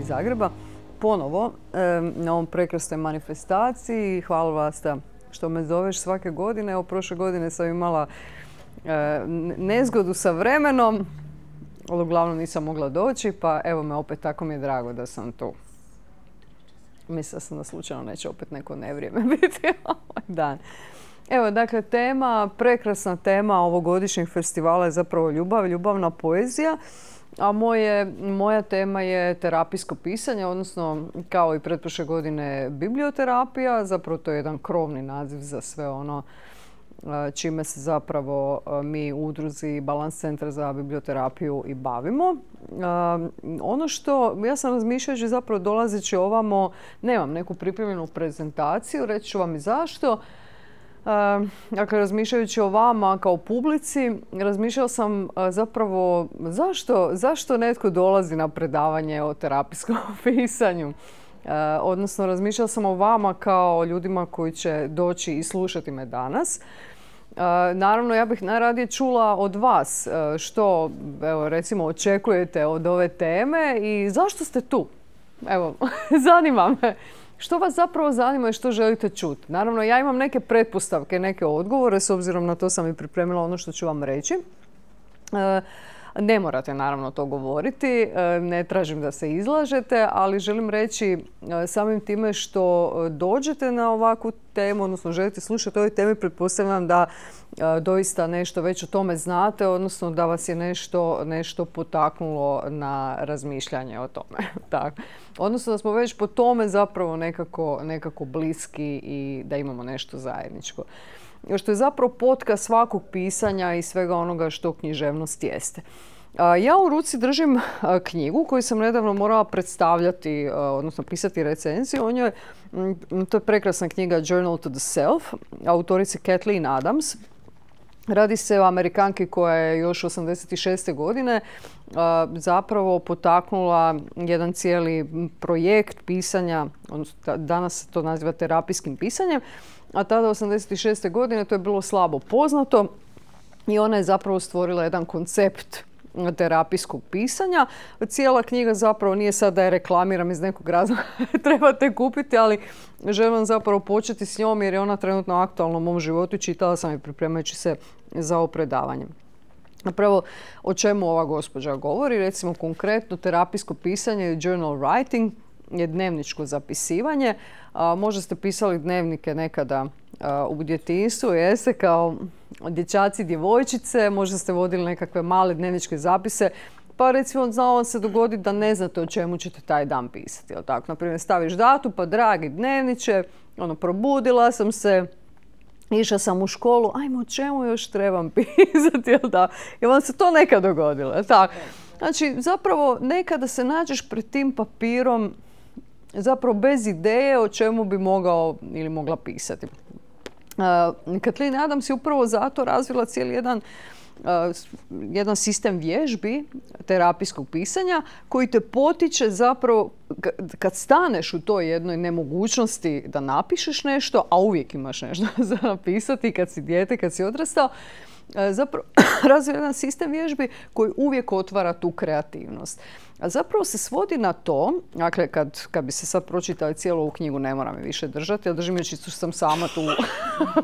iz Zagreba, ponovo na ovom prekrasnoj manifestaciji. Hvala Vlasta što me zoveš svake godine. Evo, prošle godine sam imala nezgodu sa vremenom, ali uglavnom nisam mogla doći, pa evo me opet, tako mi je drago da sam tu. Mislila sam da slučajno neće opet neko nevrijeme biti ovaj dan. Evo, dakle, prekrasna tema ovogodišnjeg festivala je zapravo ljubav, ljubavna poezija. A moja tema je terapijsko pisanje, odnosno kao i pretprošle godine biblioterapija. Zapravo to je jedan krovni naziv za sve ono čime se zapravo mi u udruzi Balans centra za biblioterapiju i bavimo. Ono što ja sam razmišljajući, zapravo dolazeći ovamo, nemam neku pripremljenu prezentaciju, reći ću vam i zašto. Dakle, razmišljajući o vama kao publici, razmišljala sam zapravo zašto netko dolazi na predavanje o terapijskom pisanju. Odnosno, razmišljala sam o vama kao ljudima koji će doći i slušati me danas. Naravno, ja bih najradije čula od vas što, evo, recimo, očekujete od ove teme i zašto ste tu. Evo, zanima me. Što vas zapravo zanima i što želite čuti? Naravno, ja imam neke pretpostavke, neke odgovore, s obzirom na to sam i pripremila ono što ću vam reći. Ne morate naravno to govoriti, ne tražim da se izlažete, ali želim reći samim time što dođete na ovakvu temu, odnosno želite slušati o ovoj temi, pretpostavljam da doista nešto već o tome znate, odnosno da vas je nešto potaknulo na razmišljanje o tome. Tako. Odnosno da smo već po tome zapravo nekako bliski i da imamo nešto zajedničko. Što je zapravo potka svakog pisanja i svega onoga što književnost jeste. Ja u ruci držim knjigu koju sam nedavno morala predstavljati, odnosno pisati recenziju o njoj. To je prekrasna knjiga Journal to the Self, autorice Kathleen Adams. Radi se o Amerikanki koja je još 86. godine zapravo potaknula jedan cijeli projekt pisanja, odnosno danas se to naziva terapijskim pisanjem, a tada 86. godine to je bilo slabo poznato i ona je zapravo stvorila jedan koncept terapijskog pisanja. Cijela knjiga zapravo nije sad da je reklamiram iz nekog razloga, trebate kupiti, ali želim zapravo početi s njom jer je ona trenutno aktualna u mom životu i čitala sam je pripremajući se za ovo predavanje. Napravo, o čemu ova gospođa govori? Recimo konkretno terapijsko pisanje, journal writing, je dnevničko zapisivanje. Možda ste pisali dnevnike nekada u djetinjstvu, jeste, kao dječaci, djevojčice, možda ste vodili nekakve male dnevničke zapise, pa recimo znalo vam se dogoditi da ne znate o čemu ćete taj dan pisati. Tako, naprimjer, staviš datum, pa dragi dnevniče, probudila sam se, išla sam u školu, ajmo, o čemu još trebam pisati, jel da? Jel vam se to nekad dogodilo, jel tako? Znači, zapravo, nekada se nađeš pred tim papirom, zapravo bez ideje o čemu bi mogao ili mogla pisati. Kathleen Adams je upravo zato razvila cijeli jedan sistem vježbi terapijskog pisanja koji te potiče zapravo kad staneš u toj jednoj nemogućnosti da napišeš nešto, a uvijek imaš nešto za napisati kad si dijete, kad si odrastao, zapravo razvija jedan sistem vježbi koji uvijek otvara tu kreativnost. A zapravo se svodi na to, dakle kad bi se sad pročitali cijelu ovu knjigu, ne moram je više držati, ja držim je čisto što sam sama tu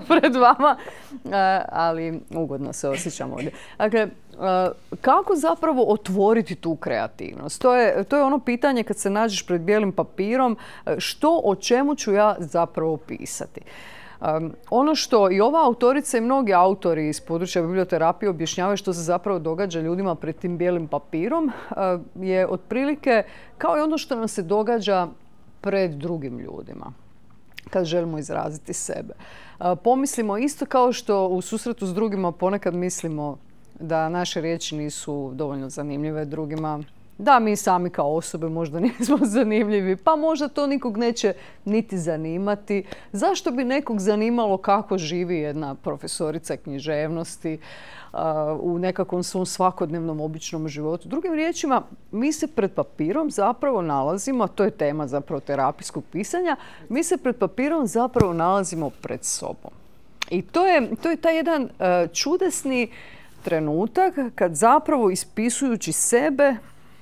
pred vama, ali ugodno se osjećam ovdje. Dakle, kako zapravo otvoriti tu kreativnost? To je ono pitanje kad se nađeš pred bijelim papirom, o čemu ću ja zapravo pisati? Ono što i ova autorica i mnogi autori iz područja biblioterapije objašnjavaju što se zapravo događa ljudima pred tim bijelim papirom je otprilike kao i ono što nam se događa pred drugim ljudima kad želimo izraziti sebe. Pomislimo isto kao što u susretu s drugima ponekad mislimo da naše riječi nisu dovoljno zanimljive drugima, da mi sami kao osobe možda nismo zanimljivi, pa možda to nikog neće niti zanimati. Zašto bi nekog zanimalo kako živi jedna profesorica književnosti u nekakvom svom svakodnevnom običnom životu? Drugim riječima, mi se pred papirom zapravo nalazimo, a to je tema zapravo terapijskog pisanja, mi se pred papirom zapravo nalazimo pred sobom. I to je taj jedan čudesni trenutak kad zapravo ispisujući sebe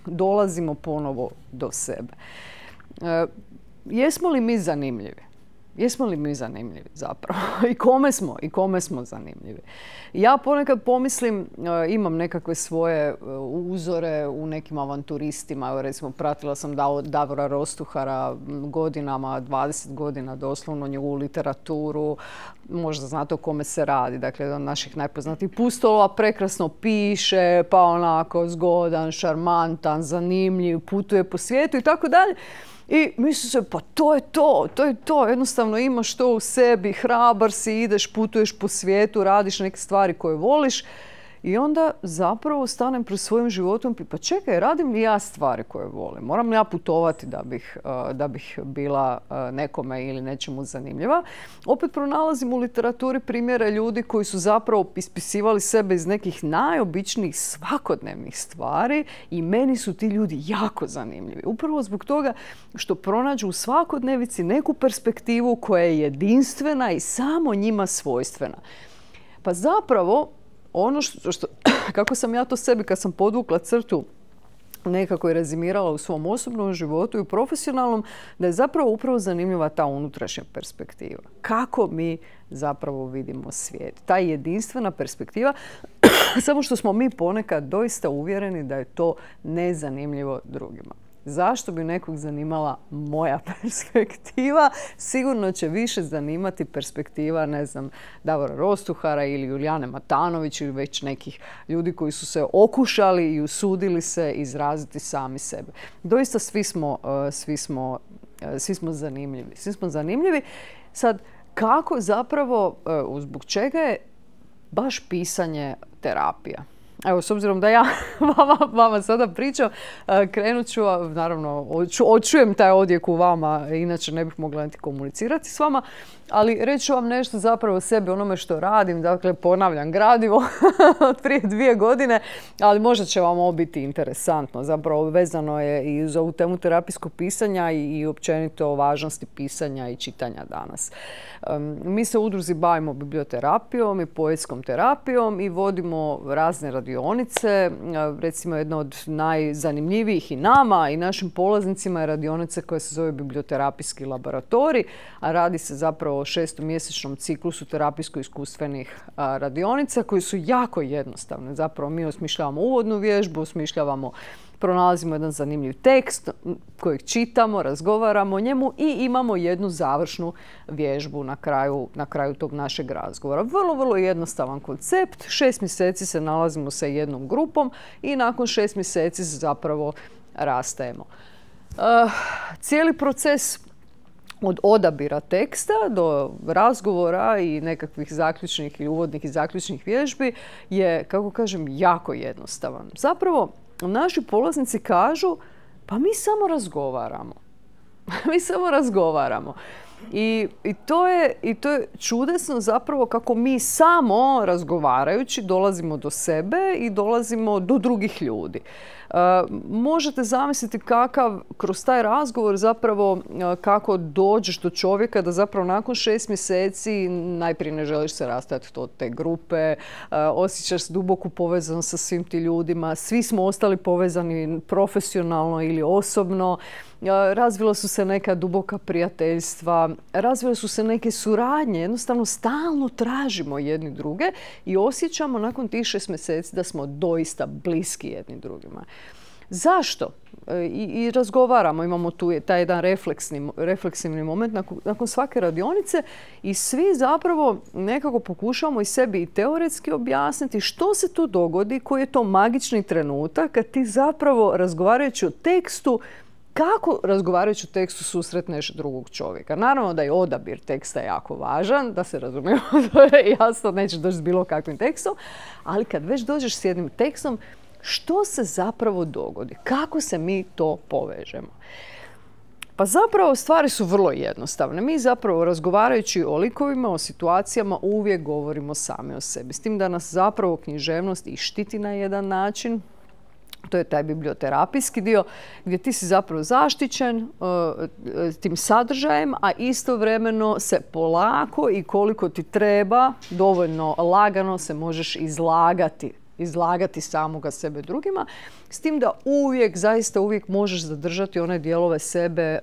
dolazimo ponovo do sebe. Jesmo li mi zanimljivi? Jesmo li mi zanimljivi zapravo? I kome smo zanimljivi? Ja ponekad pomislim, imam nekakve svoje uzore u nekim avanturistima. Evo, recimo, pratila sam Davora Rostuhara godinama, 20 godina doslovno, njegovu literaturu. Možda znate o kome se radi. Dakle, jedan od naših najpoznatijih pustolova, prekrasno piše, pa onako zgodan, šarmantan, zanimljiv, putuje po svijetu i tako dalje. I misli se, pa to je to. Jednostavno imaš to u sebi, hrabar si, ideš, putuješ po svijetu, radiš neke stvari koje voliš. I onda zapravo stanem pred svojim životom i pa čekaj, radim li ja stvari koje volim? Moram li ja putovati da bih bila nekome ili nečemu zanimljiva? Opet pronalazim u literaturi primjere ljudi koji su zapravo ispisivali sebe iz nekih najobičnijih svakodnevnih stvari i meni su ti ljudi jako zanimljivi. Upravo zbog toga što pronađu u svakodnevici neku perspektivu koja je jedinstvena i samo njima svojstvena. Pa zapravo ono kako sam ja to sebi kad sam podvukla crtu nekako je rezimirala u svom osobnom životu i u profesionalnom, da je zapravo upravo zanimljiva ta unutrašnja perspektiva. Kako mi zapravo vidimo svijet. Ta jedinstvena perspektiva, samo što smo mi ponekad doista uvjereni da je to nezanimljivo drugima. Zašto bi nekog zanimala moja perspektiva? Sigurno će više zanimati perspektiva, ne znam, Davora Rostuhara ili Julijane Matanović ili već nekih ljudi koji su se okušali i usudili se izraziti sami sebe. Doista svi smo zanimljivi. Svi smo zanimljivi. Sad, kako zapravo, zbog čega je baš pisanje terapija? Evo, s obzirom da ja vama sada pričam, krenut ću, naravno, očujem taj odjek u vama, inače ne bih mogla niti komunicirati s vama, ali reću vam nešto zapravo o sebi, onome što radim, dakle, ponavljam gradivo od prije 2 godine, ali možda će vam ovo biti interesantno. Zapravo vezano je i za ovu temu terapijskog pisanja i općenito o važnosti pisanja i čitanja danas. Mi se u udruzi bavimo biblioterapijom i poetskom terapijom i vodimo razne radionice. Recimo, jedna od najzanimljivijih i nama i našim polaznicima je radionica koja se zove biblioterapijski laboratorij, a radi se zapravo o 6-mjesečnom ciklusu terapijsko-iskustvenih radionica koji su jako jednostavne. Zapravo mi osmišljavamo uvodnu vježbu, pronalazimo jedan zanimljiv tekst kojeg čitamo, razgovaramo o njemu i imamo jednu završnu vježbu na kraju tog našeg razgovora. Vrlo, vrlo jednostavan koncept. 6 mjeseci se nalazimo sa jednom grupom i nakon 6 mjeseci zapravo rastajemo. Cijeli proces od odabira teksta do razgovora i nekakvih zaključnih i uvodnih i zaključnih vježbi je, kako kažem, jako jednostavan. Zapravo, naši polaznici kažu, pa mi samo razgovaramo. Mi samo razgovaramo. I to je čudesno zapravo kako mi samo razgovarajući dolazimo do sebe i dolazimo do drugih ljudi. Možete zamisliti kroz taj razgovor zapravo kako dođeš do čovjeka da zapravo nakon 6 mjeseci najprije ne želiš se rastajati od te grupe, osjećaš duboku povezanost sa svim ti ljudima, svi smo ostali povezani profesionalno ili osobno, razvila su se neka duboka prijateljstva, razvile su se neke suradnje, jednostavno stalno tražimo jedni druge i osjećamo nakon tih 6 mjeseci da smo doista bliski jedni drugima. Zašto? I razgovaramo, imamo tu taj jedan refleksivni moment nakon svake radionice i svi zapravo nekako pokušavamo i sebi i teoretski objasniti što se tu dogodi, koji je to magični trenutak kad ti zapravo razgovarajući o tekstu, kako razgovarajući o tekstu susretneš drugog čovjeka. Naravno da je odabir teksta jako važan, da se razumijemo, to je jasno, nećeš doći s bilo kakvim tekstom, ali kad već dođeš s jednim tekstom, što se zapravo dogodi? Kako se mi to povežemo? Pa zapravo stvari su vrlo jednostavne. Mi zapravo razgovarajući o likovima, o situacijama uvijek govorimo sami o sebi. S tim da nas zapravo književnost i štiti na jedan način. To je taj biblioterapijski dio gdje ti si zapravo zaštićen tim sadržajem, a istovremeno se polako i koliko ti treba, dovoljno lagano se možeš izlagati izlagati samoga sebe drugima, s tim da zaista uvijek možeš zadržati one dijelove sebe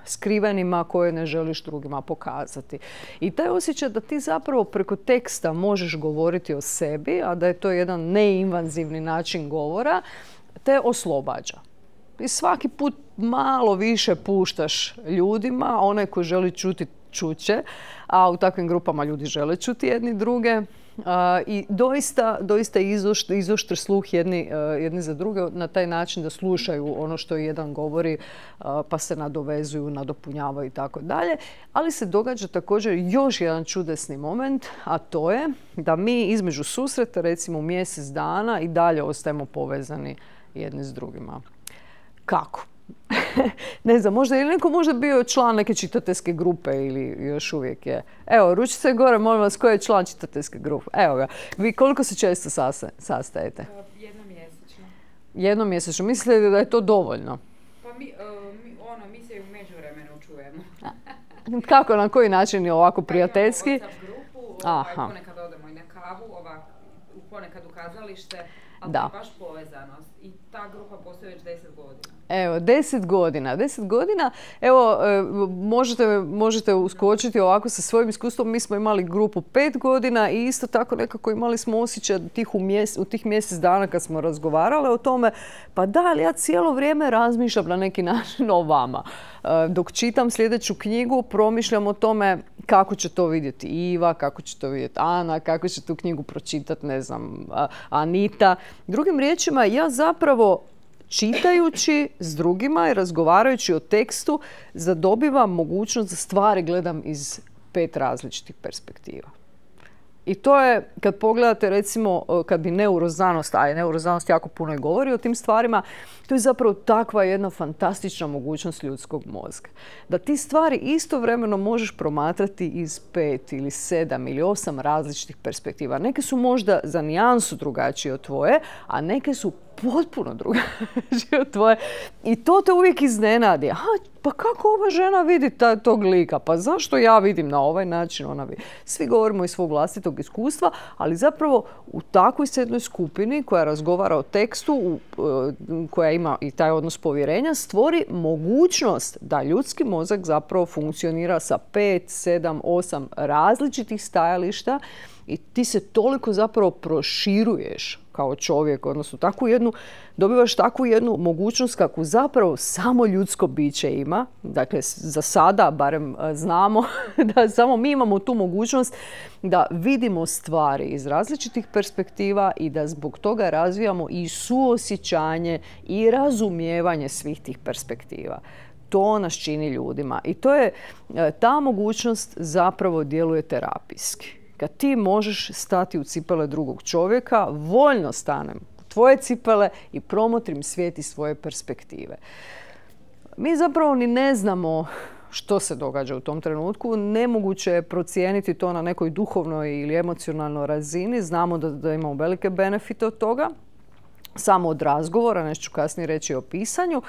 skrivenima koje ne želiš drugima pokazati. I taj osjećaj da ti zapravo preko teksta možeš govoriti o sebi, a da je to jedan neinvazivni način govora, te oslobađa. I svaki put malo više puštaš ljudima, onaj koji želi čuti, čuće, a u takvim grupama ljudi žele čuti jedni druge. I doista izoštri sluh jedni za druge na taj način da slušaju ono što jedan govori, pa se nadovezuju, nadopunjavaju i tako dalje. Ali se događa također još jedan čudesni moment, a to je da mi između susreta, recimo mjesec dana, i dalje ostajemo povezani jedni s drugima. Kako? Ne znam, možda je neko bio član neke čitateljske grupe ili još uvijek je. Evo, ručice gore, molim vas, ko je član čitateljske grupe? Evo ga. Vi koliko se često sastajete? Jednomjesečno. Jednomjesečno. Mislite da je to dovoljno? Pa mi se u međuvremenu čujemo. Kako, na koji način je ovako prijateljski? Imamo WhatsApp grupu, ponekad odemo i na kavu, ponekad u kazalište, ali to je baš povezanost. I ta grupa postoji već 10 godina. Evo, 10 godina. 10 godina, evo, možete uskočiti ovako sa svojim iskustvom. Mi smo imali grupu 5 godina i isto tako nekako imali smo osjećaj u tih mjesec dana kad smo razgovarali o tome, pa da, ali ja cijelo vrijeme razmišljam na neki način o vama. Dok čitam sljedeću knjigu, promišljam o tome kako će to vidjeti Iva, kako će to vidjeti Ana, kako će tu knjigu pročitati, ne znam, Anita. Drugim riječima, ja zapravo čitajući s drugima i razgovarajući o tekstu zadobivam mogućnost da stvari gledam iz 5 različitih perspektiva. I to je, kad pogledate recimo, kad bi neuroznanost, a neuroznanost jako puno i govori o tim stvarima, to je zapravo takva jedna fantastična mogućnost ljudskog mozga. Da ti stvari istovremeno možeš promatrati iz 5 ili 7 ili 8 različitih perspektiva. Neke su možda za nijansu drugačije od tvoje, a neke su potpuno drugačije od tvoje. I to te uvijek iznenadi. Pa kako ova žena vidi tog lika? Pa zašto ja vidim na ovaj način? Ona vidi. Svi govorimo iz svog vlastitog iskustva, ali zapravo u takvoj jednoj skupini koja razgovara o tekstu, koja ima i taj odnos povjerenja, stvori mogućnost da ljudski mozak zapravo funkcionira sa 5, 7, 8 različitih stajališta i ti se toliko zapravo proširuješ kao čovjek, odnosno dobivaš takvu jednu mogućnost kakvu zapravo samo ljudsko biće ima. Dakle, za sada barem znamo da samo mi imamo tu mogućnost da vidimo stvari iz različitih perspektiva i da zbog toga razvijamo i suosjećanje i razumijevanje svih tih perspektiva. To nas čini ljudima i ta mogućnost zapravo djeluje terapijski. Kad ti možeš stati u cipele drugog čovjeka, voljno stanem u tvoje cipele i promotrim svijet iz svoje perspektive. Mi zapravo ni ne znamo što se događa u tom trenutku. Nemoguće je procijeniti to na nekoj duhovnoj ili emocionalnoj razini. Znamo da imamo velike benefite od toga. Samo od razgovora, nešto ću kasnije reći o pisanju.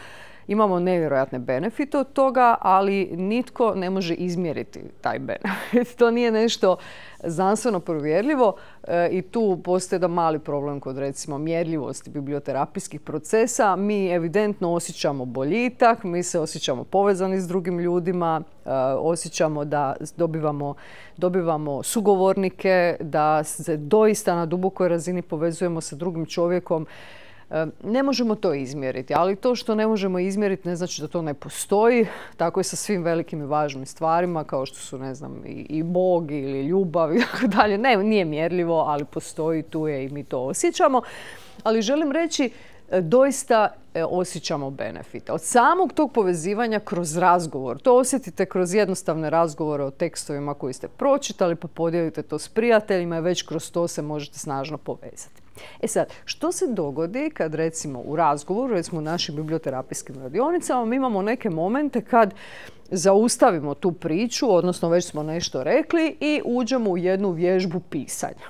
Imamo nevjerojatne benefite od toga, ali nitko ne može izmjeriti taj benefit. To nije nešto znanstveno provjerljivo i tu postoji jedan mali problem kod recimo mjerljivosti biblioterapijskih procesa. Mi evidentno osjećamo boljitak, mi se osjećamo povezani s drugim ljudima, osjećamo da dobivamo sugovornike, da se doista na dubokoj razini povezujemo sa drugim čovjekom. Ne možemo to izmjeriti, ali to što ne možemo izmjeriti ne znači da to ne postoji. Tako je sa svim velikim i važnim stvarima kao što su, ne znam, i Bog ili ljubav i tako dalje. Ne, nije mjerljivo, ali postoji, tu je i mi to osjećamo. Ali želim reći, doista osjećamo benefite. Od samog tog povezivanja kroz razgovor. To osjetite kroz jednostavne razgovore o tekstovima koji ste pročitali, pa podijelite to s prijateljima i već kroz to se možete snažno povezati. E sad, što se dogodi kad recimo u razgovoru, recimo u našim biblioterapijskim radionicama, mi imamo neke momente kad zaustavimo tu priču, odnosno već smo nešto rekli i uđemo u jednu vježbu pisanja.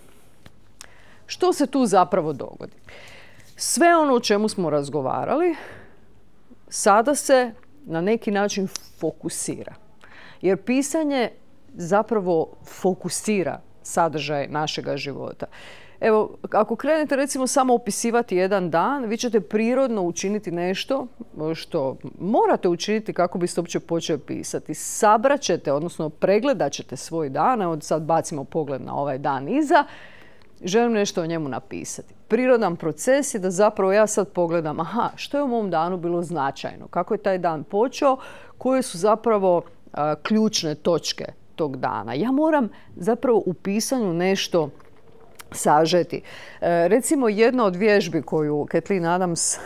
Što se tu zapravo dogodi? Sve ono o čemu smo razgovarali sada se na neki način fokusira. Jer pisanje zapravo fokusira sadržaj našega života. Evo, ako krenete recimo samo opisivati jedan dan, vi ćete prirodno učiniti nešto što morate učiniti kako biste uopće počeli pisati. Sabrat ćete, odnosno pregledat ćete svoj dan. Evo sad bacimo pogled na ovaj dan iza. Želim nešto o njemu napisati. Prirodan proces je da zapravo ja sad pogledam, što je u mom danu bilo značajno, kako je taj dan počeo, koje su zapravo ključne točke tog dana. Ja moram zapravo u pisanju nešto sažeti. Recimo, jedna od vježbi koju Kathleen Adams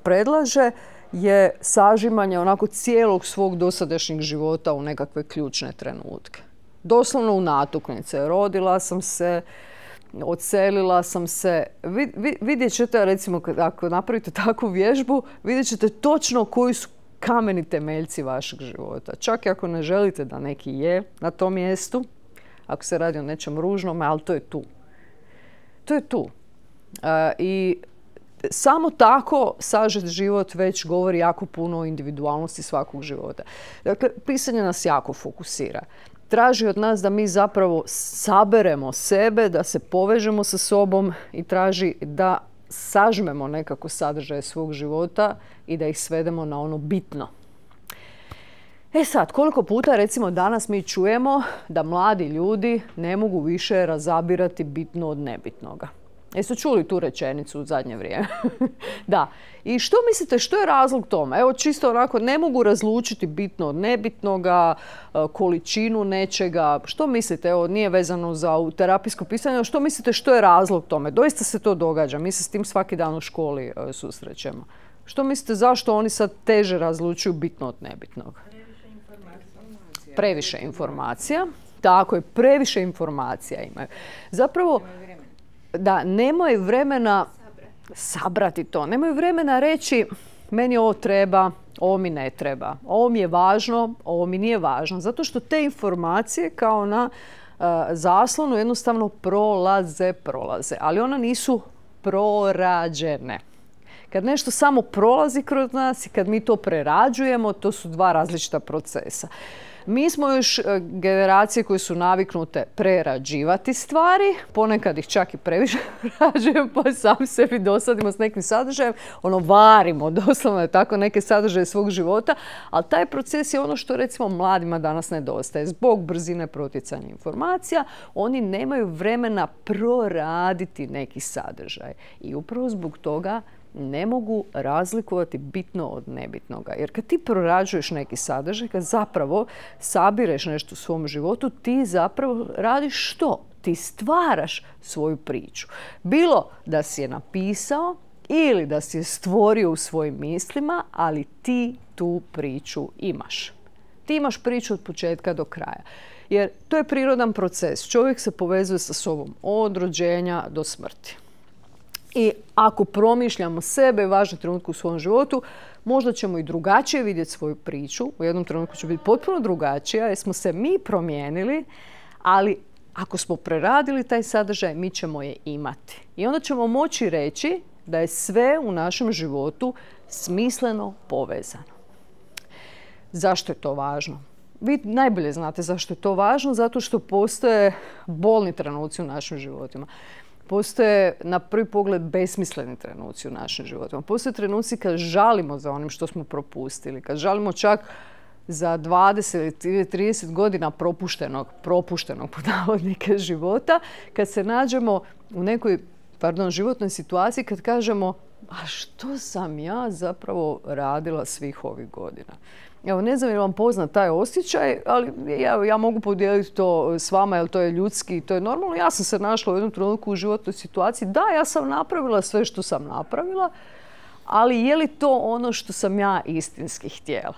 predlaže je sažimanje onako cijelog svog dosadašnjeg života u nekakve ključne trenutke. Doslovno u natuknice. Rodila sam se, odselila sam se. Vidjet ćete, recimo, ako napravite takvu vježbu, vidjet ćete točno koji su kameni temeljci vašeg života. Čak i ako ne želite da neki je na tom mjestu, ako se radi o nečem ružnom, ali to je tu. To je tu. I samo tako sažet život već govori jako puno o individualnosti svakog života. Dakle, pisanje nas jako fokusira. Traži od nas da mi zapravo saberemo sebe, da se povežemo sa sobom i traži da sažmemo nekako sadržaje svog života i da ih svedemo na ono bitno. Sad, koliko puta recimo danas mi čujemo da mladi ljudi ne mogu više razabirati bitno od nebitnoga? Jeste čuli tu rečenicu u zadnje vrijeme? Da. I što mislite, što je razlog tome? Evo, čisto onako, ne mogu razlučiti bitno od nebitnoga, količinu nečega. Što mislite? Evo, nije vezano za terapijsko pisanje. Što mislite, što je razlog tome? Doista se to događa. Mi se s tim svaki dan u školi susrećemo. Što mislite, zašto oni sad teže razlučuju bitno od nebitnog? Previše informacija. Tako je, previše informacija imaju. Zapravo, da, nemaju vremena sabrati to. Nemaju vremena reći, meni ovo treba, ovo mi ne treba. Ovo mi je važno, ovo mi nije važno. Zato što te informacije kao na zaslonu jednostavno prolaze. Ali one nisu prorađene. Kad nešto samo prolazi kroz nas i kad mi to prerađujemo, to su dva različita procesa. Mi smo još generacije koje su naviknute prerađivati stvari, ponekad ih čak i previše prerađujemo, pa sami sebi dosadimo s nekim sadržajem, varimo doslovno tako neke sadržaje svog života, ali taj proces je ono što recimo mladima danas nedostaje. Zbog brzine protjecanja informacija, oni nemaju vremena proraditi neki sadržaj i upravo zbog toga ne mogu razlikovati bitno od nebitnoga. Jer kad ti prorađuješ neki sadržaj, kad zapravo sabireš nešto u svom životu, ti zapravo radiš što? Ti stvaraš svoju priču. Bilo da si je napisao ili da si je stvorio u svojim mislima, ali ti tu priču imaš. Ti imaš priču od početka do kraja. Jer to je prirodan proces. Čovjek se povezuje sa sobom od rođenja do smrti. I ako promišljamo sebe u važnom trenutku u svom životu, možda ćemo i drugačije vidjeti svoju priču. U jednom trenutku će biti potpuno drugačija jer smo se mi promijenili, ali ako smo preradili taj sadržaj, mi ćemo je imati. I onda ćemo moći reći da je sve u našem životu smisleno povezano. Zašto je to važno? Vi najbolje znate zašto je to važno, zato što postoje bolni trenuci u našim životima. Postoje na prvi pogled besmisleni trenuci u našim životima. Postoje trenuci kad žalimo za onim što smo propustili, kad žalimo čak za 20 ili 30 godina propuštenog pod navodnike života, kad se nađemo u nekoj životnoj situaciji, kad kažemo, a što sam ja zapravo radila svih ovih godina? Evo, ne znam je li vam poznat taj osjećaj, ali ja mogu podijeliti to s vama, jer to je ljudski i to je normalno. Ja sam se našla u jednom trenutku u životnoj situaciji. Da, ja sam napravila sve što sam napravila, ali je li to ono što sam ja istinski htjela?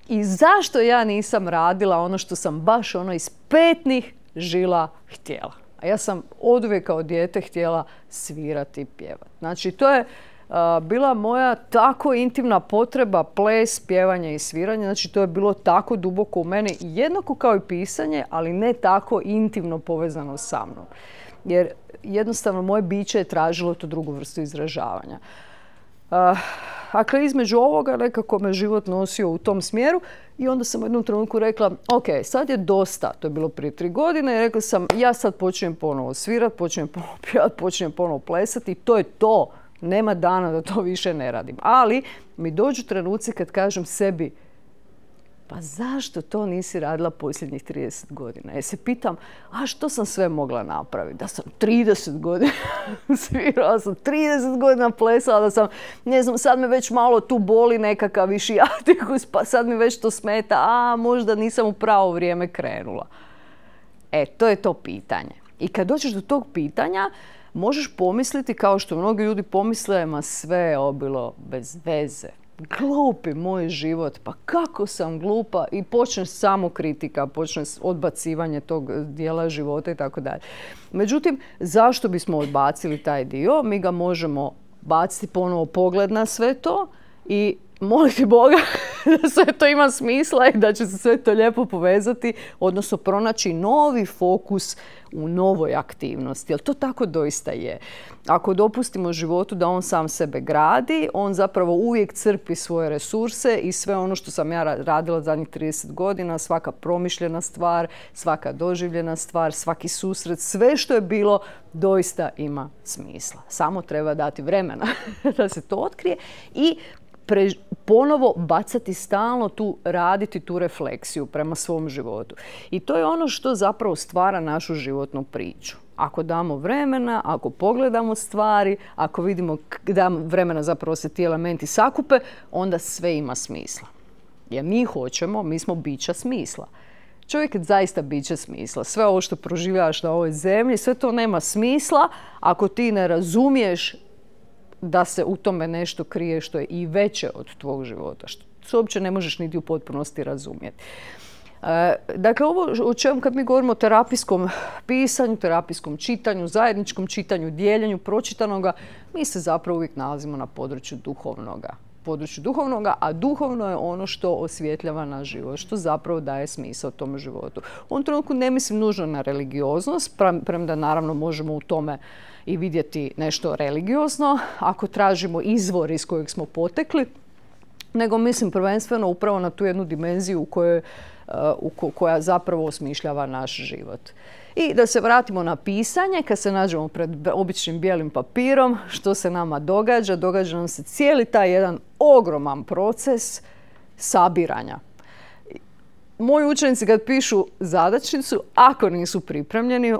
I zašto ja nisam radila ono što sam baš iz petnih žila htjela? A ja sam oduvijek kao dijete htjela svirati i pjevati. Znači, to je bila moja tako intimna potreba, ples, pjevanje i sviranje. Znači, to je bilo tako duboko u meni, jednako kao i pisanje, ali ne tako intimno povezano sa mnom. Jer jednostavno moje biće je tražilo tu drugu vrstu izražavanja. dakle, između ovoga nekako me život nosio u tom smjeru i onda sam u jednom trenutku rekla, ok, sad je dosta, to je bilo prije 3 godine i rekla sam, ja sad počinjem ponovo svirat, počinjem ponovo pjevat, počinjem ponovo plesati i to je to. Nema dana da to više ne radim. Ali mi dođu trenuci kad kažem sebi, pa zašto to nisi radila posljednjih 30 godina? Ja se pitam, a što sam sve mogla napraviti? Da sam 30 godina svirala, sam 30 godina plesala, da sam, ne znam, sad me već malo tu boli nekakav išijatikus, pa sad mi već to smeta, a možda nisam u pravo vrijeme krenula. To je to pitanje. I kad dođeš do tog pitanja, možeš pomisliti, kao što mnogi ljudi pomisle, ma sve je bilo bez veze. Glupi moj život, pa kako sam glupa, i počne samo kritika, počne odbacivanje tog dijela života i tako dalje. Međutim, zašto bismo odbacili taj dio? Mi ga možemo baciti ponovo pogled na sve to i moliti Boga da sve to ima smisla i da će se sve to lijepo povezati, odnosno pronaći novi fokus u novoj aktivnosti. Jer to tako doista je. Ako dopustimo životu da on sam sebe gradi, on zapravo uvijek crpi svoje resurse i sve ono što sam ja radila zadnjih 30 godina, svaka promišljena stvar, svaka doživljena stvar, svaki susret, sve što je bilo doista ima smisla. Samo treba dati vremena da se to otkrije i ponovo bacati stalno raditi tu refleksiju prema svom životu. I to je ono što zapravo stvara našu životnu priču. Ako damo vremena, ako pogledamo stvari, ako vidimo da vremena zapravo se ti elementi sakupe, onda sve ima smisla. Jer mi smo bića smisla. Čovjek je zaista biće smisla. Sve ovo što proživljavaš na ovoj zemlji, sve to nema smisla ako ti ne razumiješ da se u tome nešto krije što je i veće od tvog života, što uopće ne možeš niti u potpunosti razumjeti. Dakle, ovo o čemu kad mi govorimo o terapijskom pisanju, terapijskom čitanju, zajedničkom čitanju, dijeljenju pročitanoga, mi se zapravo uvijek nalazimo na području duhovnoga, a duhovno je ono što osvjetljava naš život, što zapravo daje smisao tom životu. U ovom trenutku ne mislim nužno na religioznost, premda naravno možemo u tome i vidjeti nešto religiozno, ako tražimo izvor iz kojeg smo potekli, nego mislim prvenstveno upravo na tu jednu dimenziju koja zapravo osmišljava naš život. I da se vratimo na pisanje, kad se nađemo pred običnim bijelim papirom, što se nama događa? Događa nam se cijeli taj jedan ogroman proces sabiranja. Moji učenici kad pišu zadačnicu, ako nisu pripremljeni,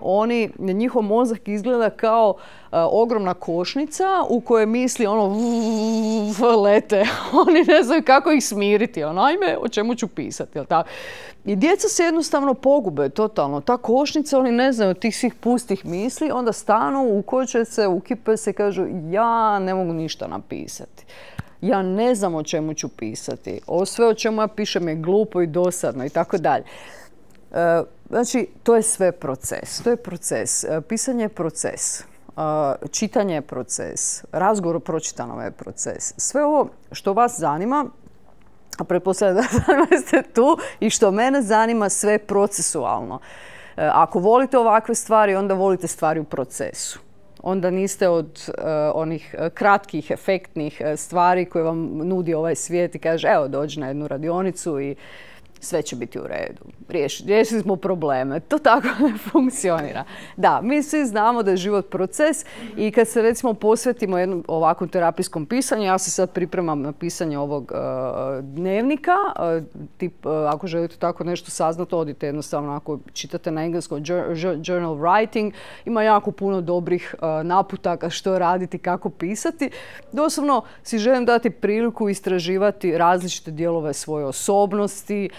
njihov mozak izgleda kao ogromna košnica u kojoj misli lete. Oni ne znaju kako ih smiriti. Ajme, o čemu ću pisati. I djeca se jednostavno pogube totalno. Ta košnica, oni ne znaju tih svih pustih misli, onda stanu, ukoče se, ukipe se, kažu ja ne mogu ništa napisati. Ja ne znam o čemu ću pisati. Sve o čemu ja pišem je glupo i dosadno i tako dalje. Znači, to je sve proces. To je proces. Pisanje je proces. Čitanje je proces. Razgovor o pročitanom je proces. Sve ovo što vas zanima, a pretpostavljam da ste tu, i što mene zanima, sve je procesualno. Ako volite ovakve stvari, onda volite stvari u procesu. Onda niste od onih kratkih, efektnih stvari koje vam nudi ovaj svijet i kaže evo dođi na jednu radionicu i sve će biti u redu. Riješili smo probleme. To tako ne funkcionira. Da, mi svi znamo da je život proces i kad se recimo posvetimo jednom ovakvom terapijskom pisanju, ja se sad pripremam na pisanje ovog dnevnika. Ako želite tako nešto saznati, odite jednostavno ako čitate na engleskom journal writing. Ima jako puno dobrih naputaka što raditi, kako pisati. Doslovno si želim dati priliku istraživati različite dijelove svoje osobnosti,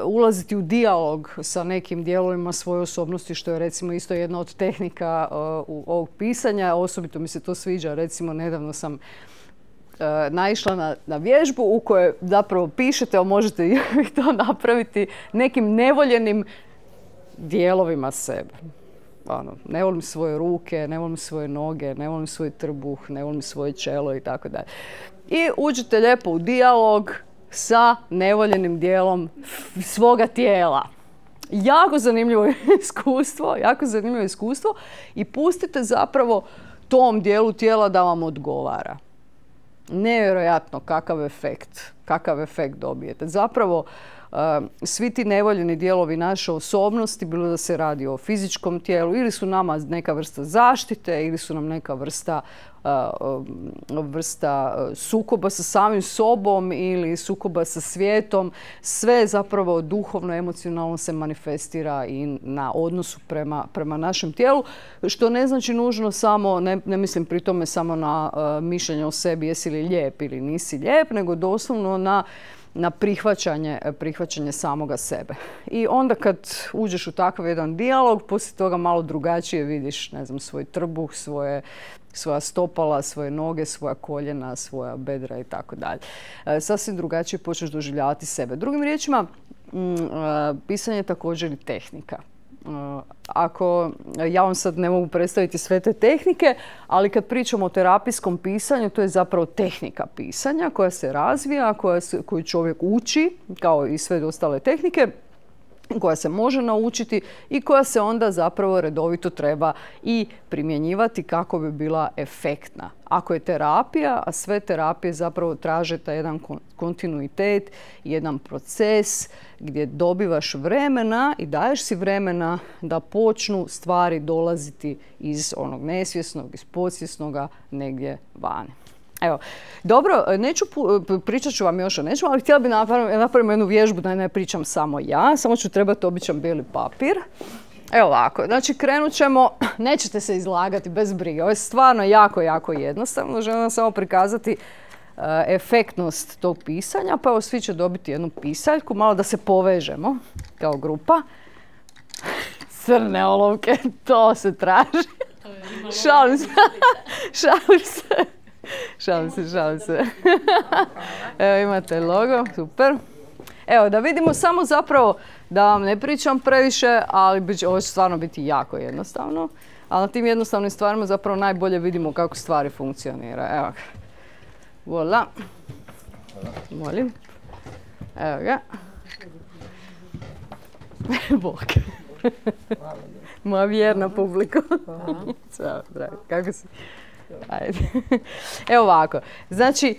ulaziti u dijalog sa nekim dijelovima svoje osobnosti, što je recimo isto jedna od tehnika ovog pisanja. Osobito mi se to sviđa. Recimo, nedavno sam naišla na vježbu u kojoj zapravo pišete, a možete i to napraviti nekim nevoljenim dijelovima sebe. Ne volim svoje ruke, ne volim svoje noge, ne volim svoj trbuh, ne volim svoje čelo i tako dalje. I uđete lijepo u dijalog sa nevoljenim dijelom svoga tijela. Jako zanimljivo iskustvo i pustite zapravo tom dijelu tijela da vam odgovara. nevjerojatno kakav efekt dobijete. Zapravo, svi ti nevoljeni dijelovi naše osobnosti, bilo da se radi o fizičkom tijelu, ili su nama neka vrsta zaštite, ili su nam neka vrsta sukoba sa samim sobom ili sukoba sa svijetom, sve zapravo duhovno, emocionalno se manifestira i na odnosu prema našem tijelu, što ne znači nužno samo, ne mislim pri tome samo na mišljenje o sebi jesi li lijep ili nisi lijep, nego doslovno na prihvaćanje samoga sebe. I onda kad uđeš u takav jedan dijalog, poslije toga malo drugačije vidiš, ne znam, svoj trbuh, svoja stopala, svoje noge, svoja koljena, svoja bedra i tako dalje. Sasvim drugačije počneš doživljavati sebe. Drugim riječima, pisanje je također i tehnika. Ja vam sad ne mogu predstaviti sve te tehnike, ali kad pričamo o terapijskom pisanju, to je zapravo tehnika pisanja koja se razvija, koju čovjek uči, kao i sve ostale tehnike, koja se može naučiti i koja se onda zapravo redovito treba i primjenjivati kako bi bila efektna. Ako je terapija, a sve terapije zapravo traže taj jedan kontinuitet, jedan proces gdje dobivaš vremena i daješ si vremena da počnu stvari dolaziti iz onog nesvjesnog, iz podsvjesnoga negdje vani. Evo, dobro, pričat ću vam još o nečemu, ali htjela bi napraviti jednu vježbu da ne pričam samo ja, samo ću trebati običan bijeli papir. Evo ovako, znači krenut ćemo, nećete se izlagati bez brige, ovo je stvarno jako jednostavno, želim vam samo prikazati efektnost tog pisanja, pa evo svi će dobiti jednu pisaljku, malo da se povežemo kao grupa. Crne olovke, to se traži. Šalim se. Evo imate logo, super. Evo da vidimo samo zapravo, da vam ne pričam previše, ali ovo će stvarno biti jako jednostavno. Ali na tim jednostavnim stvarima zapravo najbolje vidimo kako stvari funkcionira. Evo ga. Voila. Molim. Evo ga. Bog. Moja vjerna publika. Ćao, dragi. Kako si? Ajde. Evo ovako. Znači,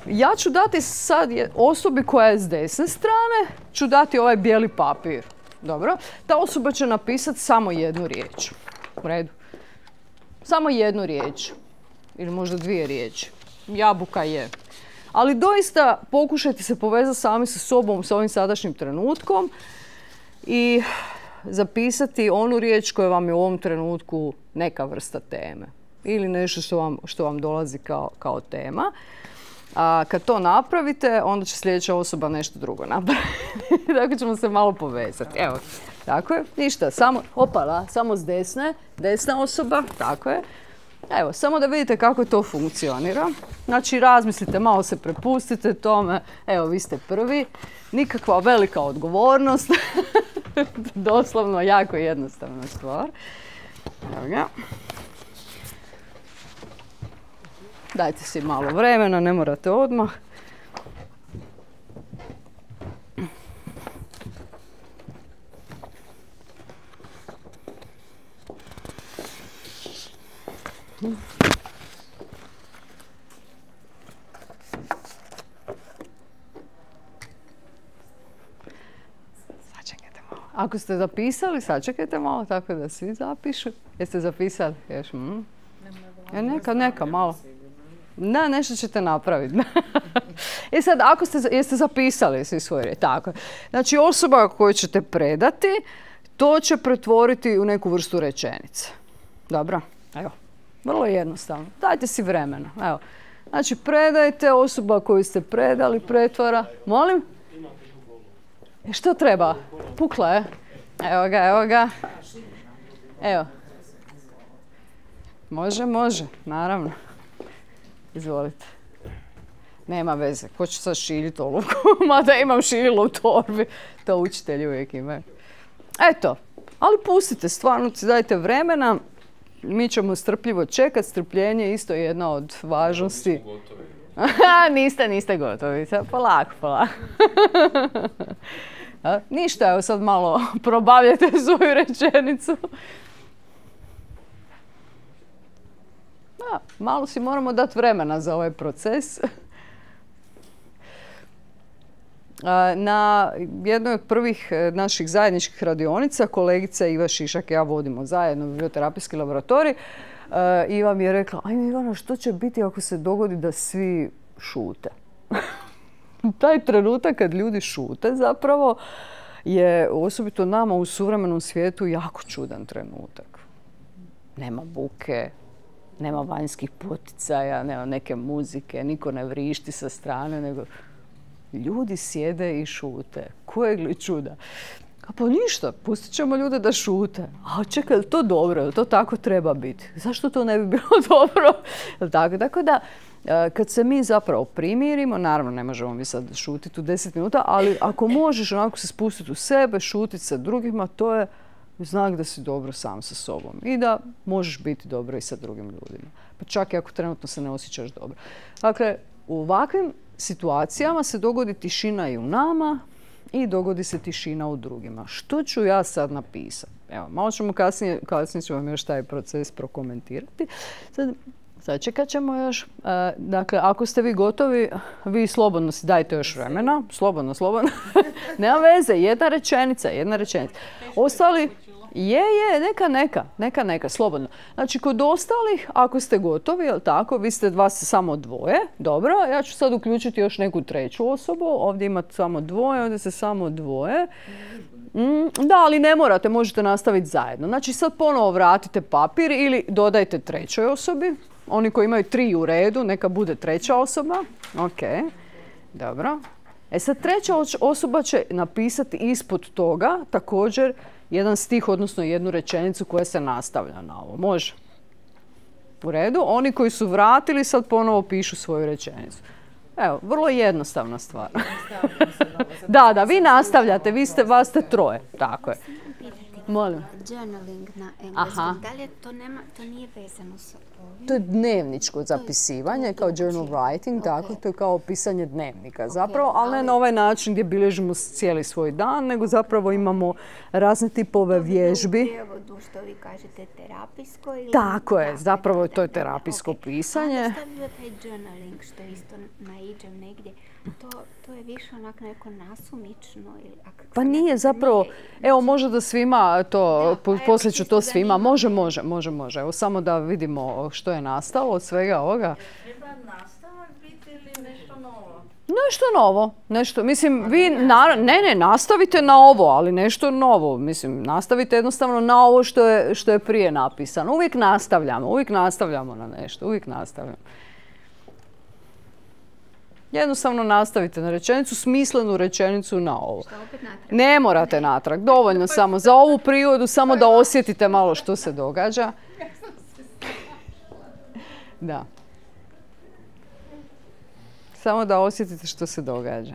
ja ću dati sad osobi koja je s desne strane, ću dati ovaj bijeli papir. Dobro? Ta osoba će napisati samo jednu riječ. U redu? Samo jednu riječ. Ili možda dvije riječi. Jabuka je. Ali doista pokušajte se povezati sami sa sobom, sa ovim sadašnjim trenutkom i zapisati onu riječ koja vam je u ovom trenutku neka vrsta teme. Ili nešto što vam dolazi kao tema. A kad to napravite, onda će sljedeća osoba nešto drugo napraviti. Tako ćemo se malo povezati. Evo, tako je. Ništa, samo s desna osoba, tako je. Evo, samo da vidite kako to funkcionira. Znači, razmislite, malo se prepustite tome. Evo, vi ste prvi. Nikakva velika odgovornost. Doslovno, jako jednostavna stvar. Evo ga. Dajte si malo vremena, ne morate odmah. Sačekajte malo. Ako ste zapisali, sačekajte malo, tako da svi zapišu. Jeste zapisali? Još, neka, malo. Da, nešto ćete napraviti. I sad, jeste zapisali svi svoje riječi? Tako. Znači, osoba koju ćete predati, to će pretvoriti u neku vrstu rečenice. Dobro? Evo. Vrlo jednostavno. Dajte si vremena. Evo. Znači, predajte, osoba koju ste predali pretvara. Molim? Što treba? Pukla je? Evo ga. Evo. Može, naravno. Izvolite. Nema veze. Ko će sad šiljiti olovku? Mada imam šililo u torbi. To učitelji uvijek imaju. Eto. Ali pustite, stvarno si dajte vremena. Mi ćemo strpljivo čekati. Strpljenje je isto jedna od važnosti. Niste gotovi. Polako. Ništa, evo sad malo probavljajte svoju rečenicu. malo si moramo dati vremena za ovaj proces. Na jednoj od prvih naših zajedničkih radionica kolegica Iva Šišak i ja vodimo zajedno biblioterapijski laboratorij. Iva mi je rekla, ajme Ivana, što će biti ako se dogodi da svi šute? Taj trenutak kad ljudi šute zapravo je osobito nama u suvremenom svijetu jako čudan trenutak. Nema buke, nema vanjskih poticaja, nema neke muzike, niko ne vrišti sa strane, nego ljudi sjede i šute. Kojeg li čuda? Pa ništa, pustit ćemo ljude da šute. A čekaj, je li to dobro? Je li to tako treba biti? Zašto to ne bi bilo dobro? Tako da, kad se mi zapravo primirimo, naravno ne možemo mi sad šutiti u 10 minuta, ali ako možeš onako se spustiti u sebe, šutiti sa drugima, to je znak da si dobro sam sa sobom i da možeš biti dobro i sa drugim ljudima. Pa čak i ako trenutno se ne osjećaš dobro. Dakle, u ovakvim situacijama se dogodi tišina i u nama i dogodi se tišina u drugima. Što ću ja sad napisati? Evo, malo ćemo kasnije ću vam još taj proces prokomentirati. Sad čekat ćemo još. Dakle, ako ste vi gotovi, vi slobodno si dajte još vremena. Slobodno. Nema veze, jedna rečenica. Ostali, neka, slobodno. Znači, kod ostalih, ako ste gotovi, jel tako, vi ste vas samo dvoje, dobro, ja ću sad uključiti još neku treću osobu, ovdje imate samo dvoje, ovdje se samo dvoje. Da, ali ne morate, možete nastaviti zajedno. Znači, sad ponovo vratite papir ili dodajte trećoj osobi. Oni koji imaju 3 u redu, neka bude treća osoba. Ok, dobro. Sad treća osoba će napisati ispod toga također jedan stih, odnosno jednu rečenicu koja se nastavlja na ovo. Može? U redu. Oni koji su vratili sad ponovo pišu svoju rečenicu. Evo, vrlo jednostavna stvar. Da, vi nastavljate, vas ste troje. Tako je. Molim. Journaling na engleskom. Da li to nije vezano sa ovim? To je dnevničko zapisivanje, kao journal writing, tako, to je kao pisanje dnevnika zapravo, ali ne na ovaj način gdje bilježimo cijeli svoj dan, nego zapravo imamo razne tipove vježbi. U prijevodu što vi kažete terapijsko? Tako je, zapravo to je terapijsko pisanje. A šta bi bio taj journaling što isto naiđem negdje? To je više onak neko nasumično? Pa nije zapravo, evo može da svima to, poslije ću to svima, može. Evo samo da vidimo što je nastalo od svega ovoga. Treba nastavak biti ili nešto novo? Nešto novo, mislim, vi, nastavite na ovo, ali nešto novo, mislim, nastavite jednostavno na ovo što je prije napisano. Uvijek nastavljamo na nešto, Jednostavno nastavite na rečenicu, smislenu rečenicu na ovo. Što opet natrag? Ne morate natrag, dovoljno samo za ovu prigodu, samo da osjetite malo što se događa. Da. Samo da osjetite što se događa.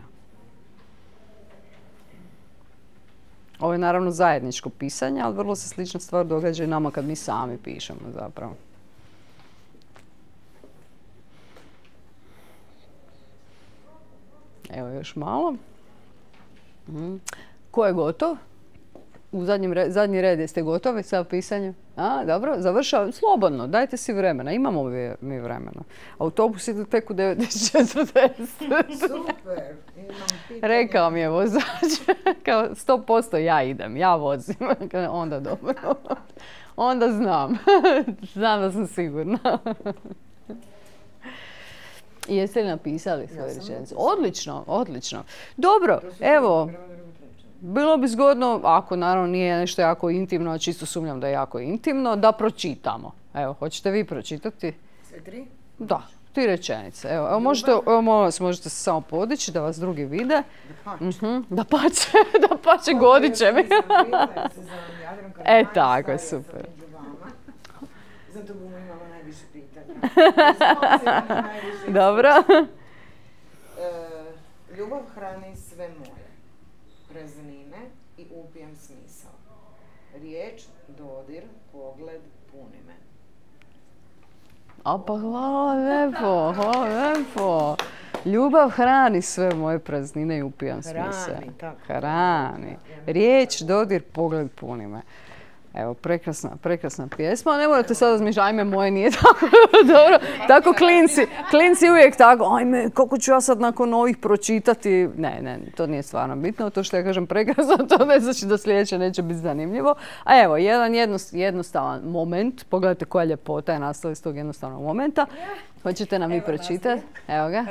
Ovo je naravno zajedničko pisanje, ali vrlo se slična stvar događa i nama kad mi sami pišemo zapravo. Evo još malo. Ko je gotov? U zadnji red jeste gotovi sa pisanjem? Dobro, završavam. Slobodno, dajte si vremena. Imamo mi vremena. Autobus ide tek u 9:40. Super. Rekao mi je vozač. 100% ja idem, ja vozim. Onda dobro. Onda znam. Znam da sam sigurna. I jeste li napisali svoje rečenice? Odlično. Dobro, evo, bilo bi zgodno, ako naravno nije nešto jako intimno, a čisto sumnjam da je jako intimno, da pročitamo. Evo, hoćete vi pročitati? Sve 3? Da, 3 rečenice. Evo, molim vas, možete se samo podići da vas drugi vide. Da pače, godit će mi. Tako, super. Zato bomo imala najviše pitanja. Dobro. Ljubav hrani sve moje, praznine i upijem smisao. Riječ, dodir, pogled, puni me. Pa hvala lijepo. Ljubav hrani sve moje praznine i upijam smisao. Hrani. Riječ, dodir, pogled, puni me. Evo, prekrasna pjesma. Ne morate sad razmišljati, ajme, moje nije tako dobro. Tako klinci uvijek tako, ajme, kako ću ja sad nakon ovih pročitati. Ne, to nije stvarno bitno. To što ja kažem prekrasno, to ne znači da sljedeće neće biti zanimljivo. A evo, jedan jednostavan moment. Pogledajte koja ljepota je nastala iz tog jednostavnog momenta. Hoćete nam vi pročitati? Evo ga.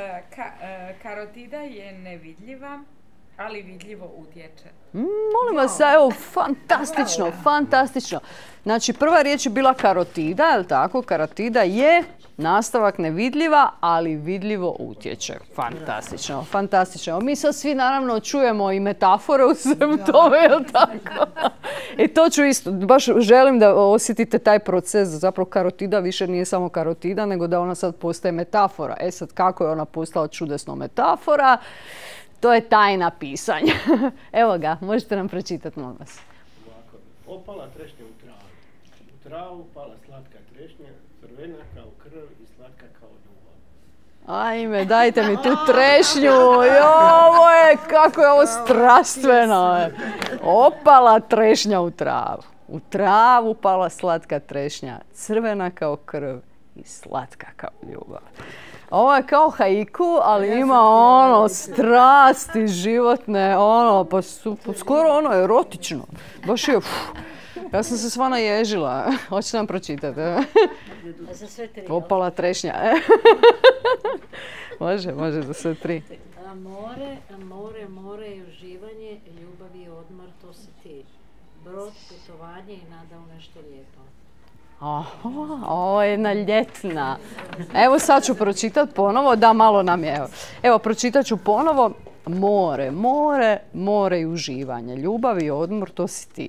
Karotida je nevidljiva, ali vidljivo utječe. Molim vas, evo, fantastično. Znači, prva riječ je bila karotida, je li tako? Karotida je nastavak nevidljiva, ali vidljivo utječe. Fantastično. Mi sad svi naravno čujemo i metafore u svemu tome, je li tako? I to ću isto, baš želim da osjetite taj proces. Zapravo karotida više nije samo karotida, nego da ona sad postaje metafora. Sad, kako je ona postala čudesno metafora? To je tajna pisanja. Evo ga, možete nam pročitati, molim vas. Ovako, opala trešnja u travu. U travu pala slatka trešnja, crvena kao krv i slatka kao ljubav. Ajme, dajte mi tu trešnju. Ovo je, kako je ovo strastveno. Opala trešnja u travu. U travu pala slatka trešnja, crvena kao krv i slatka kao ljubav. Ovo je kao haiku, ali ima ono strasti životne, ono, pa skoro ono erotično. Baš je, ja sam se sva naježila. Hoćete nam pročitati? Za sve tri. Opala trešnja. Može, za sve tri. More i uživanje, ljubav i odmor, to si ti. Brod, putovanje i nada u nešto lijepo. Ovo je jedna ljetna. Evo sad ću pročitati ponovo, da malo nam je. Evo, pročitat ću ponovo. More i uživanje, ljubav i odmor, to si ti.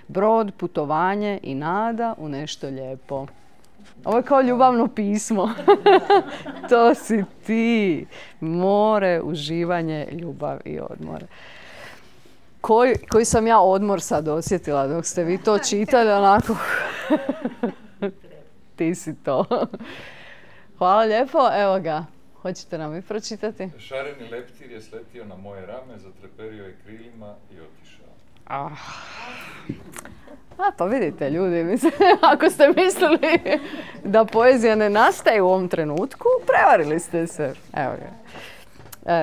Brod, putovanje i nada u nešto lijepo. Ovo je kao ljubavno pismo. To si ti. More, uživanje, ljubav i odmor. Koji sam ja odmor sad osjetila dok ste vi to čitali, onako. Ti si to. Hvala lijepo, evo ga. Hoćete nam vi pročitati? Šareni leptir je sletio na moje rame, zatreperio je krilima i otišao. Pa vidite ljudi, mislim, ako ste mislili da poezija ne nastaje u ovom trenutku, prevarili ste se. Evo ga.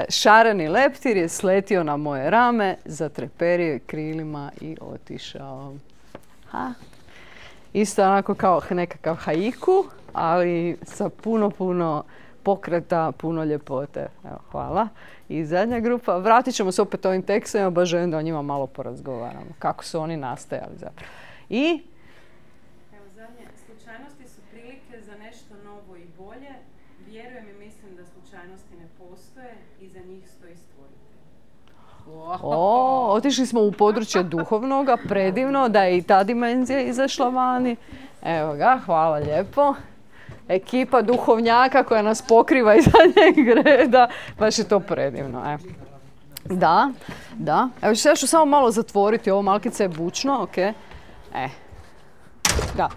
Šareni leptir je sletio na moje rame, zatreperio je krilima i otišao. Isto onako kao nekakav haiku, ali sa puno pokreta, puno ljepote. Evo, hvala. I zadnja grupa. Vratit ćemo se opet ovim tekstovima, baš želim da o njima malo porazgovaramo. Kako su oni nastajali zapravo. I? Evo zadnje. Slučajnosti su prilike za nešto novo i bolje. Vjerujem i mislim da slučajnosti ne postoje i za njih stoji stvoritelj. Otišli smo u područje duhovnoga, predivno, da je i ta dimenzija izašla vani. Evo ga, hvala lijepo. Ekipa duhovnjaka koja nas pokriva iz zadnjeg reda, baš je to predivno. Da. Evo ja ću samo malo zatvoriti, ovo malkice je bučno, ok. Da.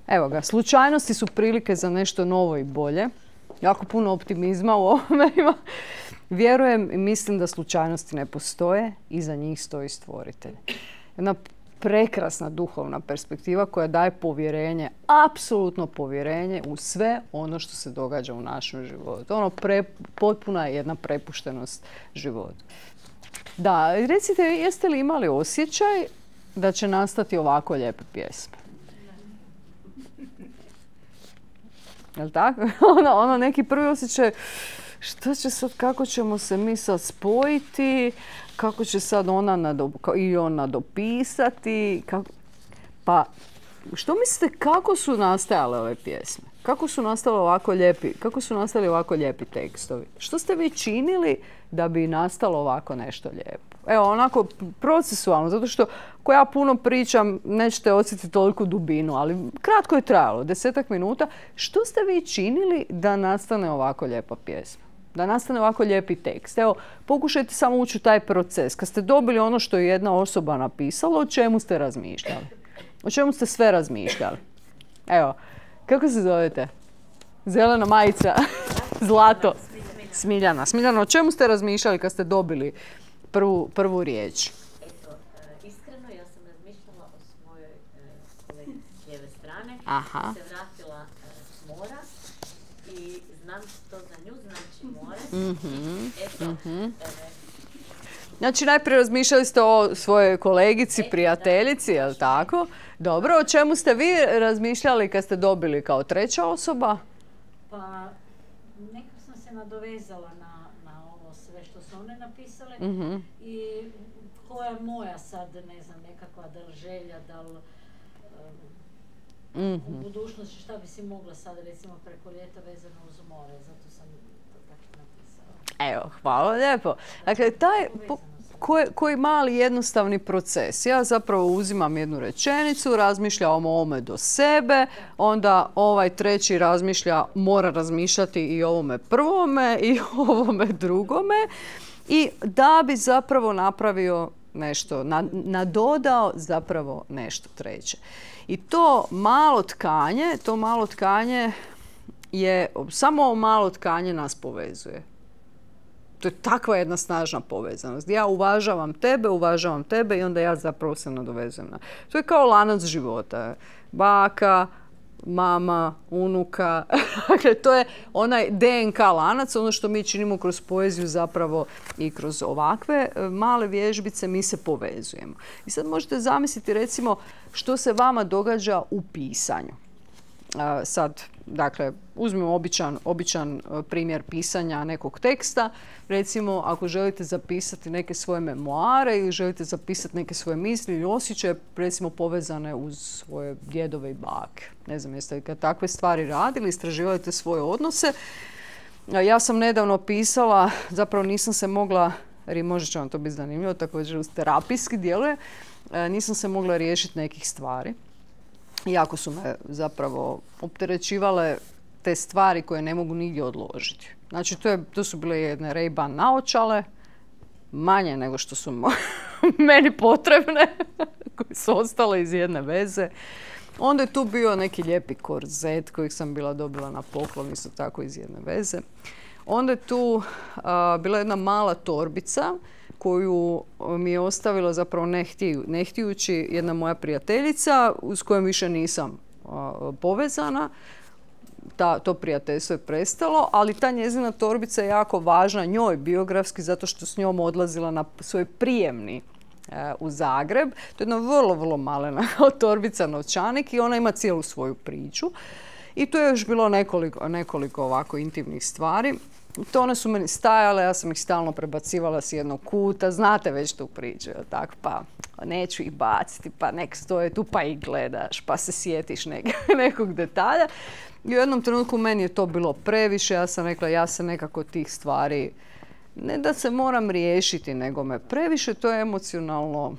Evo ga, slučajnosti su prilike za nešto novo i bolje. Jako puno optimizma u ovome ima. Vjerujem i mislim da slučajnosti ne postoje i za njih stoji stvoritelj. Jedna prekrasna duhovna perspektiva koja daje povjerenje, apsolutno povjerenje u sve ono što se događa u našem životu. Potpuna je jedna prepuštenost životu. Da, recite, jeste li imali osjećaj da će nastati ovako lijepe pjesme? Jel' tako? Ono neki prvi osjećaj, što će sad, kako ćemo se mi sad spojiti, kako će sad ona i on nadopisati. Pa, što mislite, kako su nastajale ove pjesme? Kako su nastali ovako lijepi tekstovi? Što ste vi činili da bi nastalo ovako nešto lijepo? Evo, onako procesualno, zato što ako ja puno pričam, nećete osjetiti toliku dubinu, ali kratko je trajalo, 10-ak minuta. Što ste vi činili da nastane ovako lijepa pjesma? Da nastane ovako lijepi tekst? Evo, pokušajte samo ući u taj proces. Kad ste dobili ono što je jedna osoba napisala, o čemu ste razmišljali? O čemu ste sve razmišljali? Evo, kako se zovete? Zelena majica, zlato. Smiljana. Smiljana, o čemu ste razmišljali kad ste dobili prvu riječ? Iskreno, ja sam razmišljala o lijeve strane. Aha. Se vratila s mora i znam što za nju znači more. Eto, Znači, najprije razmišljali ste o svojoj kolegici, prijateljici, je li tako? Dobro, o čemu ste vi razmišljali kad ste dobili kao treća osoba? Pa, nekako sam se nadovezala na ovo sve što su one napisale i koja je moja sad, ne znam, nekakva da li želja, da li u budućnosti šta bi si mogla sad recimo preko ljeta vezano uz more, zato sam to tako napisala. Evo, hvala lijepo. Dakle, taj koji mali jednostavni proces. Ja zapravo uzimam jednu rečenicu, razmišljam o ovome do sebe, onda ovaj treći razmišlja, mora razmišljati i o ovome prvome i o ovome drugome i da bi zapravo napravio nešto, nadodao zapravo nešto treće. I to malo tkanje je, samo malo tkanje nas povezuje. To je takva jedna snažna povezanost. Ja uvažavam tebe i onda ja zapravo se nadovezujem na. To je kao lanac života. Baka, mama, unuka. Dakle, to je onaj DNK lanac, ono što mi činimo kroz poeziju zapravo i kroz ovakve male vježbice mi se povezujemo. I sad možete zamisliti recimo što se vama događa u pisanju. Sad, dakle, uzmimo običan primjer pisanja nekog teksta. Recimo, ako želite zapisati neke svoje memoare ili želite zapisati neke svoje misli ili osjećaje, recimo povezane uz svoje djedove i bake. Ne znam, jeste li kad takve stvari radili, istraživali te svoje odnose. Ja sam nedavno pisala, zapravo nisam se mogla, jer možda će vam to biti zanimljivo, također uz terapijski djeluje, nisam se mogla riješiti nekih stvari. Jako su me zapravo opterećivale te stvari koje ne mogu nigdje odložiti. Znači, to su bile jedne Ray-Ban naočale, manje nego što su meni potrebne, koje su ostale iz jedne veze. Onda je tu bio neki lijepi korzet kojeg sam bila dobila na poklon, isto tako iz jedne veze. Onda je tu bila jedna mala torbica koju mi je ostavila zapravo ne htijući jedna moja prijateljica s kojom više nisam povezana. To prijateljstvo je prestalo, ali ta njezina torbica je jako važna njoj biografski zato što s njom odlazila na svoj prijemni u Zagreb. To je jedna vrlo, vrlo malena torbica novčanik i ona ima cijelu svoju priču. I tu je još bilo nekoliko ovako intimnih stvari. To one su meni stajale, ja sam ih stalno prebacivala s jednog kuta, znate već tu priču, tako, pa neću ih baciti, pa nek stoje tu pa ih gledaš, pa se sjetiš nekog detalja. I u jednom trenutku meni je to bilo previše, ja sam rekla ja se nekako tih stvari, ne da se moram riješiti, nego me previše to emocionalno